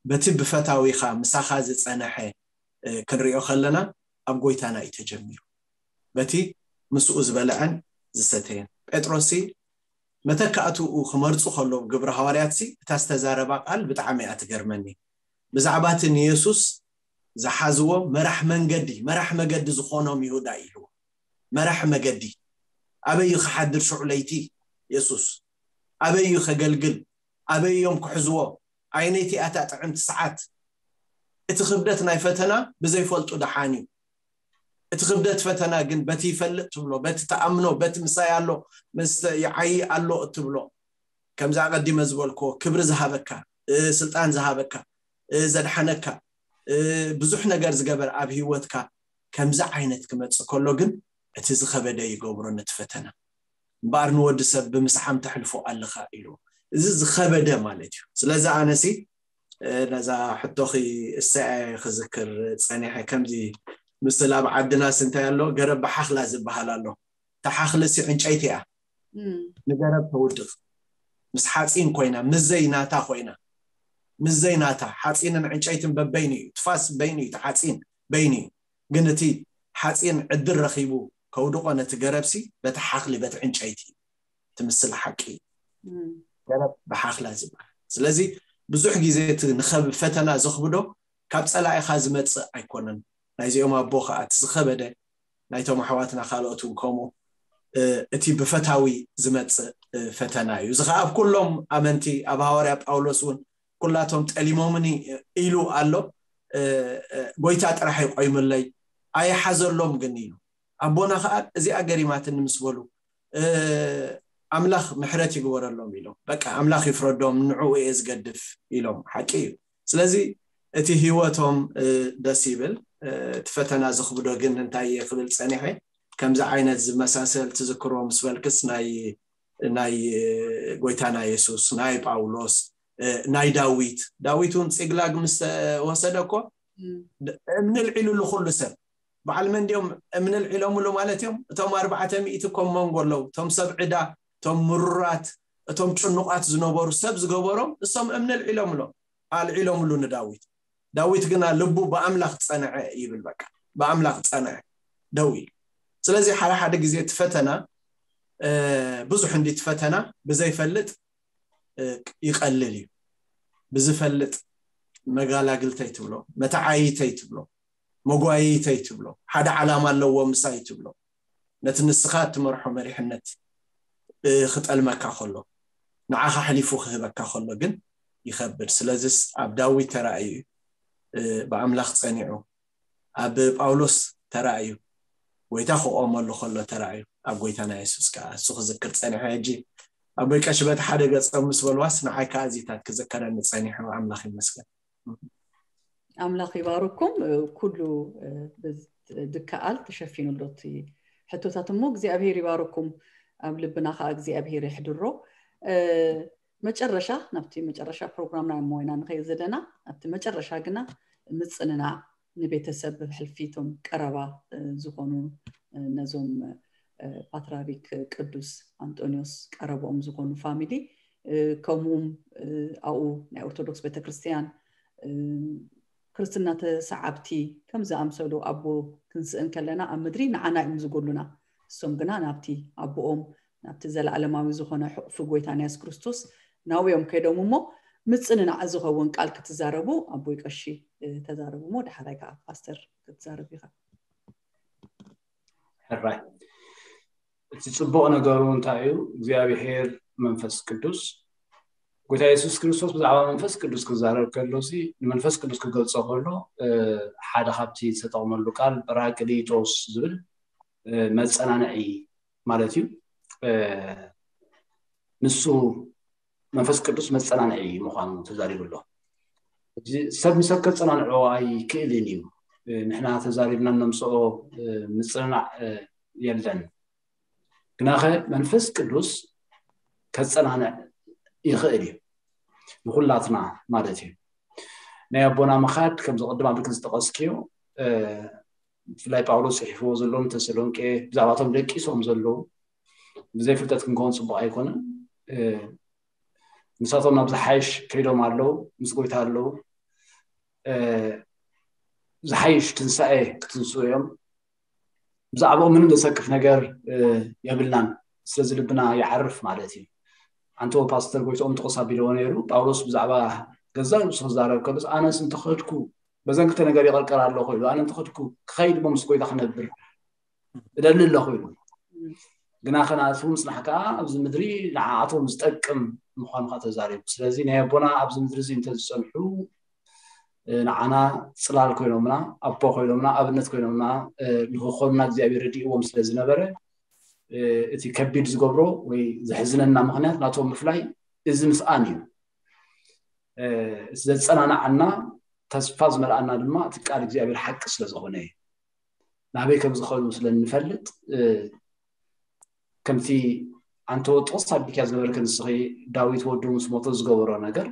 በቲ ብፈታዊኻ ምሳኻ ዝፀነሐ ክንሪኦ ከለና፣ ኣብ ጎይታና እዩ ተጀሚሩ። በቲ ምስኡ ዝበልዐን ዝሰተየን። ጴጥሮስ መተካእትኡ ክመርፁ ከለዉ ግብረ ሃዋርያት፣ እታ ዝተዛረባ ቃል ብጣዕሚ እያ ትገርመኒ። ብዛዕባ እቲ ንየሱስ ዝሓዝዎ መራሕ መንገዲ፣ መራሕ መገዲ ዝኾኖም ይሁዳ ኢልዎ። መራሕ መገዲ ኣበይ እዩ ክሓድር ሽዑ ለይቲ? የሱስ ኣበይ እዩ ከገልግል? ኣበይ እዮም ክሕዝዎ? ኣየነይቲ እያ እታ ጥዕምቲ ሰዓት? እቲ ክብደት ናይ ፈተና ብዘይፈልጡ ደሓን እዩ። እቲ ክብደት ፈተና ግን በቲ ይፈልጥ ትብሎ፣ በቲ ተኣምኖ፣ በቲ ምሳይ ኣሎ፣ ምስ ይዓይ ኣሎ እትብሎ፣ ከምዚ ኣቐዲመ ዝበልክዎ ክብሪ ዝሃበካ፣ እ፣ ስልጣን ዝሃበካ፣ እ፣ ዘድሓነካ፣ እ፣ ብዙሕ ነገር ዝገበር ኣብ ህይወትካ ከምዚ ዓይነት ክመጽእ ከሎ ግን እቲ ዝኸበደ ይገብሮ ነቲ ፈተና። እምበኣር ንወዲ ሰብ ብምስዓም ተሕልፎ ኣለኻ ኢሉ። እዚ ዝኸበደ ማለት እዩ። ስለዚ ኣነሲ፣ እ፣ ነዛ ሕቶኺ እሰይ ክዝክር ጸኒሐ። ከምዚ ምስል ኣብ ዓድናስ እንታይ ኣሎ? ገረብ ብሓኽላ ዝበሃል ኣሎ። ተሓኽልሲ ዕንጨይቲ እያ። እም። ንገረብ ተውድቕ። ምስ ሓፂን ኮይና፣ ምስ ዘይናታ ኮይና፣ ምስ ዘይናታ፣ ሓፂንን ዕንጨይትን በበይኑ እዩ፣ ትፋስ በይኑ እዩ፣ እቲ ሓፂን በይኑ እዩ። ግን እቲ ሓፂን ዕድል ረኺቡ ከውድቆ ነቲ ገረብሲ በቲ ሓኽሊ፣ በቲ ዕንጨይቲ ትምስል ሓቂ እዩ። እም። ገረብ ብሓኽላ ዝበሃል። ስለዚ ብዙሕ ግዜ እቲ ንኸብ-፣ ፈተና ዘኽብዶ ካብ ጸላኢኻ ዝመጽእ ኣይኮነን። ናይዚኦም ኣቦ ኸኣ እቲ ዝኸበደ ናይቶም ኣሕዋትና ካልኦት እውን ከምኡ፣ እ፣ እቲ ብፈታዊ ዝመጽእ፣ እ፣ ፈተና እዩ። እዚ ኸኣ ኣብ ኩሎም ኣመንቲ፣ ኣብ ሃዋርያ ጳውሎስ እውን ኩላቶም ጠሊሞምኒ ኢሉ ኣሎ። እ፣ እ፣ ጎይታ ጥራሕ ይቆይምለይ፣ ኣይሓዘሎም ግን ኢሉ። ኣቦና ኸኣ እዚኣ ገሪማትኒ ምስ በሉ፣ እ፣ ኣምላኽ ምሕረት ይግበረሎም ኢሎም። በቃ ኣምላኽ ይፍረዶም፣ ንዕኡ እየ ዝገድፍ ኢሎም። ሓቂ እዩ። ስለዚ እቲ ህይወቶም፣ እ፣ ደስ ይብል። እ፣ እቲ ፈተና ዘኽብዶ ግን እንታይ እየ ክብል ጸኒሐ፣ ከምዚ ዓይነት ዝመሳሰል ትዝክሮ ምስ በልክስ ናይ፣ ናይ፣ እ፣ ጎይታና የሱስ፣ ናይ ጳውሎስ፣ እ፣ ናይ ዳዊት፣ ዳዊት እውን ጺግላግ ምስ ወሰደ እኮ እም። ድ-፣ እምኒ ልዒሉሉ ኩሉ ሰብ። በዓል መን ድዮም እምኒ ልዒሎምሉ ማለት እዮም? እቶም ኣርባዕተ ሚእቲ እኮ መንጎ ኣለዉ። እቶም ሰብ ዕዳ፣ እቶም ምሩራት፣ እቶም ጭኑቓት ዝነበሩ ሰብ ዝገበሮም እሶም እምኒ ልዒሎምሎም፣ ኣልዒሎምሉ ንዳዊት። ዳዊት ግና ልቡ ብኣምላኽ ጸንዐ ይብል። በቃ ብኣምላኽ ጸንዐ፣ ደው ኢሉ። ስለዚ ሓደ ሓደ ግዜ እቲ ፈተና፣ እ፣ ብዙሕ እንዲ እቲ ፈተና ብዘይፈልጥ፣ እ፣ ይቐልል እዩ። ብዝፈልጥ መጋላግልተይ ትብሎ፣ መተዓይተይ ትብሎ፣ መጓየይተይ ትብሎ፣ ሓደ ዓላማ ኣለዎ ምሳይ ትብሎ፣ ነቲ ንስኻ እትመርሖ መሪሕነት፣ እ፣ ክጠልመካ ከሎ፣ ንዓኻ ኣሕሊፉ ክህበካ ከሎ ግን ይኸብድ። ስለዚስ ኣብ ዳዊት ተራእዩ እዩ፣ እ፣ ብኣምላኽ ጸኒዑ፣ ኣብ ጳውሎስ ተራእዩ፣ ጎይታ ክቆመሉ ከሎ ተራእዩ፣ ኣብ ጎይታና የሱስ ከኣ እሱ ክዝክር ጸኒሐ። ሕጂ ኣቦይ ቀሺ በቲ ሓደ ገጾም ምስ በልዋስ ንዓይ ከኣ እዚታት ክዝከረኒ ጸኒሑ። ኣምላኽ ይመስገን። ኣምላኽ ይባርኩም። ኩሉ፣ እ፣ ብዝ-፣ ድከኣል ተሸፊኑ ኣሎ እቲ ሕቶታት እሞ እግዚኣብሄር ይባርኩም። ኣብ ልብና ከኣ እግዚኣብሄር የሕድሮ። እ፣ መጨረሻ፣ ናብቲ መጨረሻ ፕሮግራምና እሞ ኢና ንኸይድ ዘለና። ናብቲ መጨረሻ ግና ምጽንናዕ ንቤተሰብ ብሕልፊ እቶም ቀረባ፣ እ፣ ዝኾኑ፣ እ፣ ነዞም፣ እ፣ ፓትርያርክ ቅዱስ ኣንጦንዮስ ቀረብኦም ዝኾኑ ፋሚሊ፣ እ፣ ከምኡም፣ እ፣ ኣብኡ ናይ ኦርቶዶክስ ቤተክርስትያን፣ እ፣ ክርስትና ተሰዓብቲ ከም ዝኣምሰሉ ኣቦ ክንስእን ከለና ኣብ ምድሪ ንዓና እዮም ዝጎሉና። እሶም ግና ናብቲ ኣቦኦም፣ ናብቲ ዘለዓለማዊ ዝኾነ ሕቑፊ ጎይታና የሱስ ክርስቶስ ናብኦም ከይዶም እሞ ምጽንናዕ ዝኸውን ቃል ክትዛረቡ ኣቦይ ቀሺ፣ እ፣ ተዛረቡ እሞ ዳሕራይ ከኣ ፓስተር ክትዛረብ ኢኻ። ሕራይ። እቲ ጽቡቕ ነገሩ እንታይ እዩ? እግዚኣብሄር መንፈስ ቅዱስ፣ ጎይታ የሱስ ክርስቶስ ብዛዕባ መንፈስ ቅዱስ ክዛረብ ከሎ ሲ፣ ንመንፈስ ቅዱስ ክገልጾ ከሎ፣ እ፣ ሓደ ካብቲ ዝተጠቕመሉ ቃል ጳራቅሊጦስ ዝብል፣ እ፣ መጸናንዒ ማለት እዩ። እ፣ ንሱ መንፈስ ቅዱስ መጸናንዒ ምዃኑ ተዛሪቡ ኣሎ። እዚ ሰብ ንሰብ ከጸናንዖ ኣይክእልን እዩ። እ፣ ንሕና ተዛሪብና እነምጽኦ፣ እ፣ ምጽንናዕ፣ እ፣ የለን። ግናኸ መንፈስ ቅዱስ ከጸናንዕ ይኽእል እዩ። ንኹላትና ማለት እዩ። ናይ ኣቦና ምኻድ ከምዚ ቅድም ኣብልክ ዝጠቐስክዮ፣ እ፣ ብፍላይ ጳውሎስ ጽሒፍዎ ዘሎ ንተሰሎንቄ ብዛዕባቶም ደቂሶም ዘለዉ ብዘይ ፍልጠት ክንከውን ጽቡቕ ኣይኮነን። እ፣ ንሳቶም ናብ ዝሓይሽ ከይዶም ኣለዉ፣ ምስ ጎይታ ኣለዉ። እ፣ ዝሓይሽ ትንሳኤ ክትንስኡ እዮም። ብዛዕባኦም ምንም ዘሰክፍ ነገር፣ እ፣ የብልናን። ስለዚ ልብና ይዓርፍ ማለት እዩ። ኣንተ ፓስተር ጎይትኦም ጥቕስ ኣቢልዎ ነይሩ። ጳውሎስ ብዛዕባ ገዛእ ርእሱ ክዛረብ ከሎስ፣ ኣነስ እንተኸድኩ በዘን ክልተ ነገር ይቐርቀር ኣለኹ ኢሉ፣ ኣነ እንተኸድኩ ክኸይድ እሞ ምስ ጎይታ ክነብር እደሊ ኣለኹ ኢሉ። ግና ከናቱ ምጽናሕ ከኣ ኣብዚ ምድሪ ንዓኣቶም ዝጠቅም ምዃኑ ከኣ ተዛሪቡ። ስለዚ ናይ ኣቦና ኣብዚ ምድሪ እዚ እንተዝጸንሑ ንዓና ጽላል ኮይኖምና፣ ኣቦ ኮይኖምና፣ ኣብነት ኮይኖምና ንክኾኑና እግዚኣብሔር ረዲእዎም ስለ ዝነበረ፣ እቲ ከቢድ ዝገብሮ ወይ ዘሕዝነና ምኽንያት ናቶም ምፍላይ እዚ ምስኣን እዩ። እቲ ዘጸናንዓና፣ ተስፋ ዝመልኣና ድማ እቲ ቃል እግዚኣብሔር ሓቂ ስለ ዝኾነ እዩ። ናበይ ከም ዝኸዱ ስለ እንፈልጥ፣ ከምቲ ኣንተ ጥቕስ ኣቢልካ ዝነበርክ ንስኺ፣ ዳዊት ወዱ ምስ ሞተ ዝገበሮ ነገር፣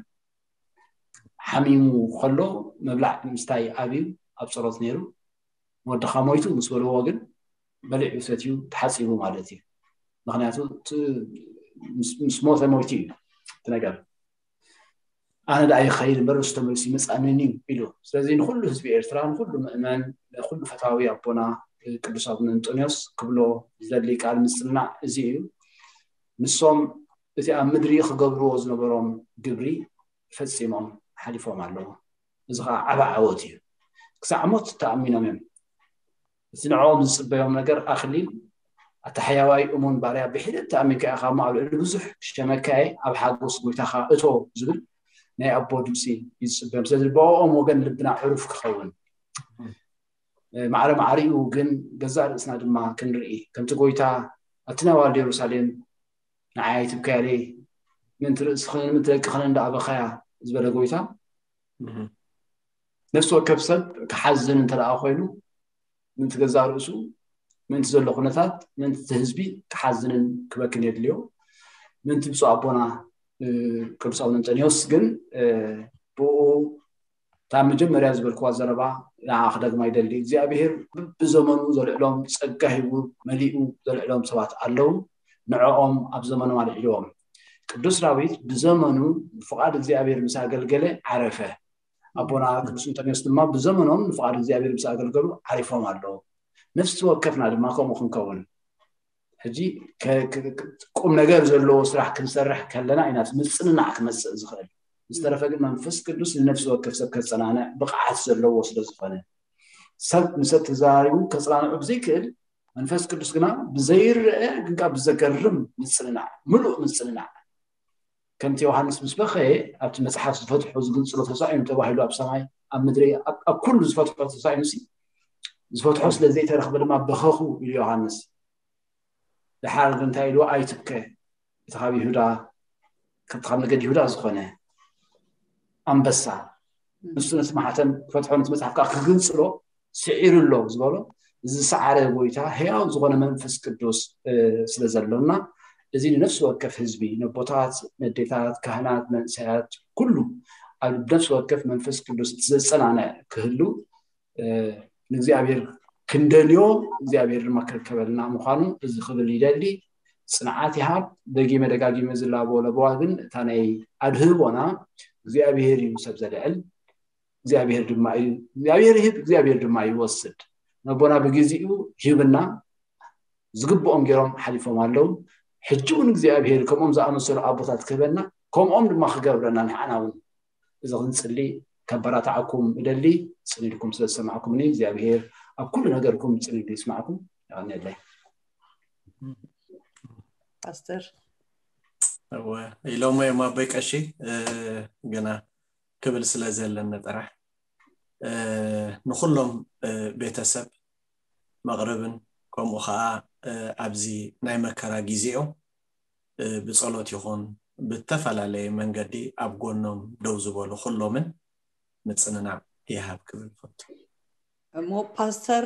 ሓሚሙ ከሎ ምብላዕ ምስታይ ኣብዩ ኣብ ጸሎት ነይሩ። ወድኻ ሞይቱ ምስ በልዎ ግን በሊዑ ሰትዩ ተሓጺቡ ማለት እዩ። ምኽንያቱ ምስ ሞተ ሞይቱ እዩ እቲ ነገር። ኣነ ደኣ ይኸይድ እምበር ንሱ ተመሊሱ ይመጽኣንን እዩ ኢሉ። ስለዚ ንኹሉ ህዝቢ ኤርትራ፣ ንኹሉ ምእመን፣ ንኹሉ ፈታዊ ኣቦና ቅዱስ ኣቡነ እንጦንዮስ ክብሎ ዝደሊ ቃል ምጽንናዕ እዚ እዩ። ንሶም እቲ ኣብ ምድሪ ክገብርዎ ዝነበሮም ግብሪ ፈጺሞም ሓሊፎም ኣለዉ። እዚ ከዓ ዓቢ ዓወት እዩ። ክሳዕ ሞት ተኣሚኖም እዮም። እቲ ንዕኦም ዝጽበዮም ነገር ኣኽሊል፣ ኣታ ሕያዋይ እሙን ባርያ፣ ብሒደት ተኣሚንካ ኢኻ እሞ ኣብ ልዕሊ ብዙሕ ክሸመካ እየ፣ ኣብ ሓጎስ ጎይታኻ እቶ ዝብል ናይ ኣቦ ድምጺ እዩ ዝጽበዮም። ስለዚ ብኦም ወገን ልብና ዕሩፍ ክኸውን፣ ማዕረ ማዕሪኡ ግን ገዛእ ርእስና ድማ ክንርኢ፣ ከምቲ ጎይታ ኣብቲ ናይ ዋልድ የሩሳሌም ንዓይ ኣይትብከያለይ፣ ምእንቲ ርእስኽን ምእንቲ ደቅኽን እንዳኣበኸያ ዝበለ ጎይታ፣ ነፍሲ ወከፍ ሰብ ክሓዝን እንተ ደኣ ኮይኑ፣ ምእንቲ ገዛእ ርእሱ፣ ምእንቲ ዘሎ ኩነታት፣ ምእንቲ እቲ ህዝቢ ክሓዝንን ክበክን የድልዮ። ምእንቲ ብፁዕ ኣቦና ቅዱስ ኣቡነ እንጠንዮስ ግን ብኡ እታ መጀመርያ ዝበልክዋ ዘረባ ንዓ ክደግማ ይደሊ። እግዚኣብሔር ብዘመኑ ዘልዕሎም፣ ጸጋ ሂቡ መሊኡ ዘልዕሎም ሰባት ኣለዉ። ንዕኦም ኣብ ዘመኖም ኣልዒልዎም። ቅዱስ ዳዊት ብዘመኑ ብፍቓድ እግዚኣብሔር ምስ ኣገልገለ ዓረፈ። ኣቦና ቅዱስ እንጠንዮስ ድማ ብዘመኖም ንፍቓድ እግዚኣብሔር ምስ ኣገልገሉ ዓሪፎም ኣለዉ። ነፍሲ ወከፍና ድማ ከምኡ ክንከውን ሕጂ ቁም ነገር ዘለዎ ስራሕ ክንሰርሕ ከለና ኢና ምፅንናዕ ክመፅእ ዝኽእል። ዝተረፈ ግን መንፈስ ቅዱስ ንነፍሲ ወከፍ ሰብ ከፀናንዕ ብቕዓት ዘለዎ ስለ ዝኾነ፣ ሰብ ንሰብ ተዘራሪቡ ከፅናንዑ ብዘይክእል፣ መንፈስ ቅዱስ ግና ብዘይረአ ግን ከዓ ብዘገርም ምፅንናዕ፣ ምሉእ ምፅንናዕ፣ ከምቲ ዮሃንስ ምስ በኸየ ኣብቲ መፅሓፍ ዝፈትሖ ዝግንፅሎ ተሳኢኑ ተባሂሉ ኣብ ሰማይ ኣብ ምድሪ ኣብ ኩሉ ዝፈትሖ ተሳኢኑ ሲ ዝፈትሖ ስለ ዘይተረኽበ ድማ በኸኹ ኢሉ ዮሃንስ። ድሓር ግን እንታይ ኢልዎ? ኣይትብከ፣ እቲ ካብ ይሁዳ፣ ካብቲ ካብ ነገድ ይሁዳ ዝኾነ ኣንበሳ፣ ንሱ ነቲ ማሕተም ክፈትሖ፣ ነቲ መጽሓፍ ከዓ ክግንጽሎ ስዒሩ ኣሎ ዝበሎ፣ እዚ ዝሰዓረ ጎይታ ሕያው ዝኾነ መንፈስ ቅዱስ ስለ ዘሎና፣ እዚ ንነፍሲ ወከፍ ህዝቢ፣ ነቦታት፣ ነዴታት፣ ካህናት፣ መንእሰያት፣ ኩሉ ኣብ ነፍሲ ወከፍ መንፈስ ቅዱስ እቲ ዘጸናንዕ ክህሉ ንእግዚኣብሔር ክንደልዮ እግዚኣብሔር ድማ ክርከበልና ምዃኑ እዚ ክብል ይደሊ። ጽንዓት ይሃብ። ደጊመ ደጋጊመ ዝላቦ ለበዋ ግን እታ ናይ ኣድህቦና እግዚኣብሔር እዩ ሰብ ዘልዕል፣ እግዚኣብሔር ድማ እዩ እግዚኣብሔር ይህብ፣ እግዚኣብሔር ድማ ይወስድ። ነቦና ብግዜኡ ሂብና ዝግብኦም ገይሮም ሓሊፎም ኣለዉ። ሕጂ እውን እግዚኣብሔር ከምኦም ዝኣመሰሉ ኣቦታት ክህበና፣ ከምኦም ድማ ክገብረና ንሕና እውን እዚ ክንጽሊ ከበራታዓኩም እደሊ። ጽን ኢልኩም ስለ ዝሰማዕኩምኒ እግዚኣብሔር ኣብ ኩሉ ነገርኩም ጽን ኢሉ ይስማዕኩም። የቐንየለይ። ፓስተር እወ ኢሎሞ እዮም ኣቦይ ቀሺ። ግና ክብል ስለ ዘለኒ ጥራሕ ንኩሎም ቤተሰብ መቕርብን ከምኡ ከዓ ኣብዚ ናይ መከራ ግዜኦም ብጸሎት ይኹን ብተፈላለየ መንገዲ ኣብ ጎኖም ደው ዝበሉ ኩሎምን ምጽንናዕ ይሃብ ክብል ፈቱ። እሞ ፓስተር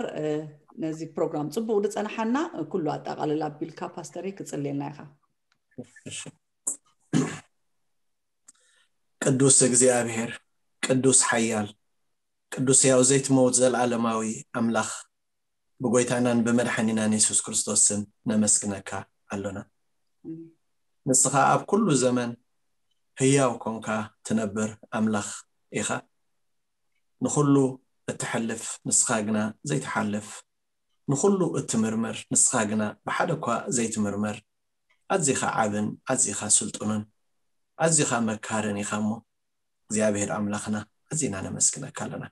ነዚ ፕሮግራም ጽቡቅ ዝጸናሓና ኩሉ ኣጠቃልል ኣቢልካ ፓስተር ክጽልየልና ኢኻ። ቅዱስ እግዚኣብሔር ቅዱስ ሓያል ቅዱስ ያው ዘይትመውት ዘልዓለማዊ ኣምላኽ ብጎይታናን ብመድሓኒናን የሱስ ክርስቶስ ስም ነመስግነካ ኣሎና። ንስኻ ኣብ ኩሉ ዘመን ህያው ኮንካ ትነብር ኣምላኽ ኢኻ። ንኹሉ እትሐልፍ ንስኻ ግና ዘይትሓልፍ፣ ንኹሉ እትምርምር ንስኻ ግና ብሓደ እኳ ዘይትምርመር፣ ኣዚኻ ዓብን ኣዚኻ ስልጡንን ኣዚኻ መካርን ኢኻ እሞ እግዚኣብሔር ኣምላኽና ኣዚና ነመስግነካ ኣለና።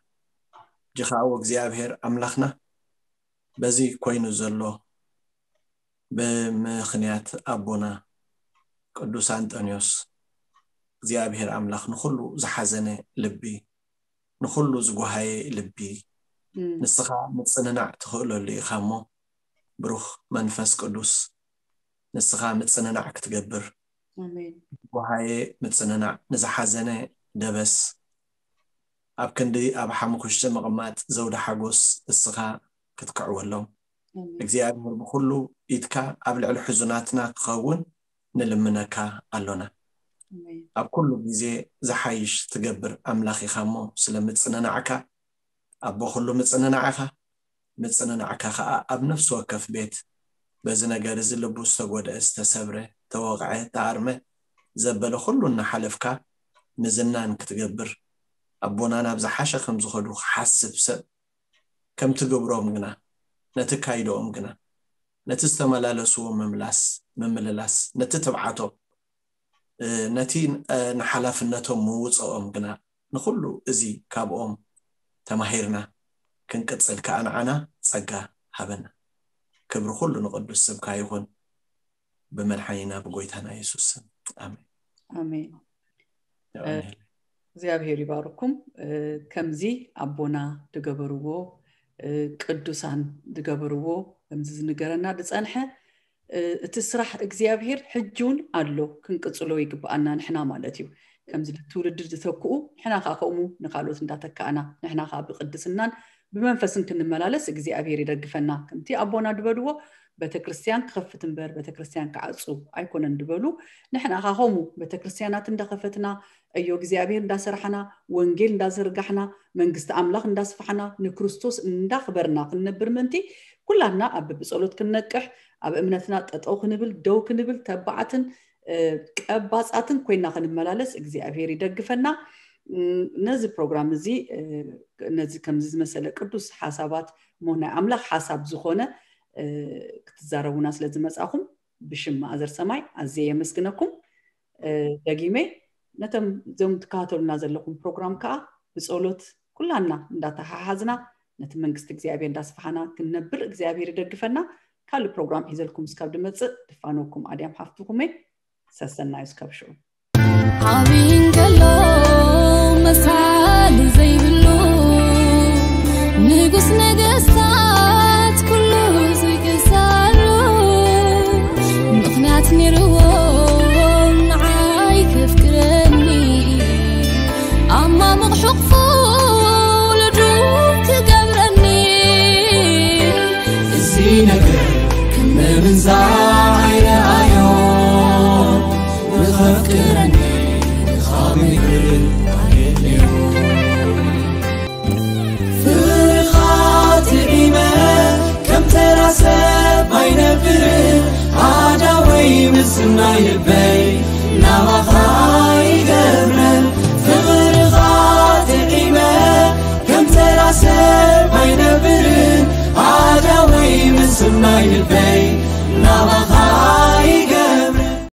ሕጂ ኸዓ እግዚኣብሔር ኣምላኽና በዚ ኮይኑ ዘሎ ብምኽንያት ኣቦና ቅዱስ ኣንጠንዮስ እግዚኣብሔር ኣምላኽ ንኹሉ ዝሓዘነ ልቢ፣ ንኹሉ ዝጓሃየ ልቢ ንስኻ ምጽንናዕ ትኽእለሉ ኢኻ እሞ፣ ብሩኽ መንፈስ ቅዱስ ንስኻ ምጽንናዕ ክትገብር፣ ኣሜን። ዝጓሃየ ምጽንናዕ፣ ንዝሓዘነ ደበስ፣ ኣብ ክንዲ ኣብ ሓሙኽሽቲ ምቕማጥ ዘውዲ ሓጎስ እስኻ ክትክዕወሎም እግዚኣብሔር ብኹሉ ኢድካ ኣብ ልዕሊ ሕዙናትና ክኸውን ንልምነካ ኣሎና። ኣብ ኩሉ ግዜ ዝሓይሽ ትገብር ኣምላኽ ኢኻ እሞ፣ ስለ ምጽንናዕካ ኣቦ ኩሉ ምጽንናዕ ኢኻ። ምጽንናዕካ ኸኣ ኣብ ነፍሲ ወከፍ ቤት በዚ ነገር እዚ ልቡ ዝተጎድአ፣ ዝተሰብረ፣ ተወቕዐ፣ ተኣርመ ዘበለ ኩሉ እናሓለፍካ ምዝናን ክትገብር፣ ኣቦና ናብ ዝሓሸ ከም ዝኸዱ ክሓስብ ሰብ ከምቲ ግብሮም ግና፣ ነቲ ካይዶኦም ግና፣ ነቲ ዝተመላለስዎ ምምላስ፣ ምምልላስ፣ ነቲ ትብዓቶም፣ ነቲ ንሓላፍነቶም ምውፅኦም ግና፣ ንኹሉ እዚ ካብኦም ተማሂርና ክንቅፅል ከኣ ንዓና ጸጋ ሃበና። ክብሪ ኩሉ ንቅዱስ ስምካ ይኹን፣ ብመድሓኒና ብጎይታና የሱስ ስም፣ ኣሜን። ኣሜን። እግዚኣብሔር ይባርኩም። ከምዚ ኣቦና ዝገበርዎ፣ ቅዱሳን ዝገበርዎ፣ ከምዚ ዝንገረና ዝጸንሐ እቲ ስራሕ እግዚኣብሔር ሕጂ እውን ኣሎ፣ ክንቅጽሎ ይግብኣና ንሕና ማለት እዩ። ከምዚ ትውልዲ ዝተክኡ ንሕና ከዓ ከምኡ ንካልኦት እንዳተካእና ንሕና ከዓ ብቅድስናን ብመንፈስን ክንመላለስ እግዚኣብሔር ይደግፈና። ከምቲ ኣቦና ዝበልዎ ቤተክርስትያን ክኸፍት እምበር ቤተክርስትያን ክዓጹ ኣይኮነን ዝበሉ፣ ንሕና ከዓ ከምኡ ቤተክርስትያናት እንዳኸፈትና ዕዮ እግዚኣብሔር እንዳሰራሕና ወንጌል እንዳዘርጋሕና መንግስቲ ኣምላኽ እንዳስፋሕና ንክርስቶስ እንዳኽበርና ክንነብር ምእንቲ ኩላትና ኣብ ብብጸሎት ክንነቅሕ ኣብ እምነትና ጠጠው ክንብል ደው ክንብል ተባዓትን ቀባጻትን ኮይና ክንመላለስ እግዚኣብሔር ይደግፈና። ነዚ ፕሮግራም እዚ ነዚ ከምዚ ዝመሰለ ቅዱስ ሓሳባት እሞ ናይ ኣምላኽ ሓሳብ ዝኾነ ክትዛረቡና ስለ ዝመጻኹም ብሽም ማእዘር ሰማይ ኣዝየ የመስግነኩም። ደጊመ ነቶም ዞም ትከታተሉና ዘለኹም ፕሮግራም ከዓ ብጸሎት ኩላና እንዳተሓሓዝና ነቲ መንግስቲ እግዚኣብሔር እንዳስፋሓና ክንነብር እግዚኣብሔር ይደግፈና። ካልእ ፕሮግራም ሒዘልኩም እስካብ ድመጽእ ድፋነኩም ኣድያም ሓፍትኹም እየ። ሰሰናዩ እስካብ ሽዑ። ዓብይ እንከሎ መሳሊ ዘይብሉ ንጉስ ነገስታት ኩሉ ዝግዛሉ ምኽንያት ነይርዎ ንዓይ ከፍቅረኒ ኣብ ማሙቕ ሕቕፉ ልዱ ክገብረኒ እዚ ነገር ክምንዛ ኣይረኣዮ ንኸፍቅረኒ ካብ ምግር ኣየድልዮ ፍቕርኻ ጥዒመ ከም ተራ ሰብ ኣይነብር ኣዳወይ ምስናይ ልበይ ናባኻ ይገብረ ፍቕርኻ ጥዒመ ከም ተራ ሰብ ኣይነብር ኣዳወይ ምስናይ ልበይ ናባኻ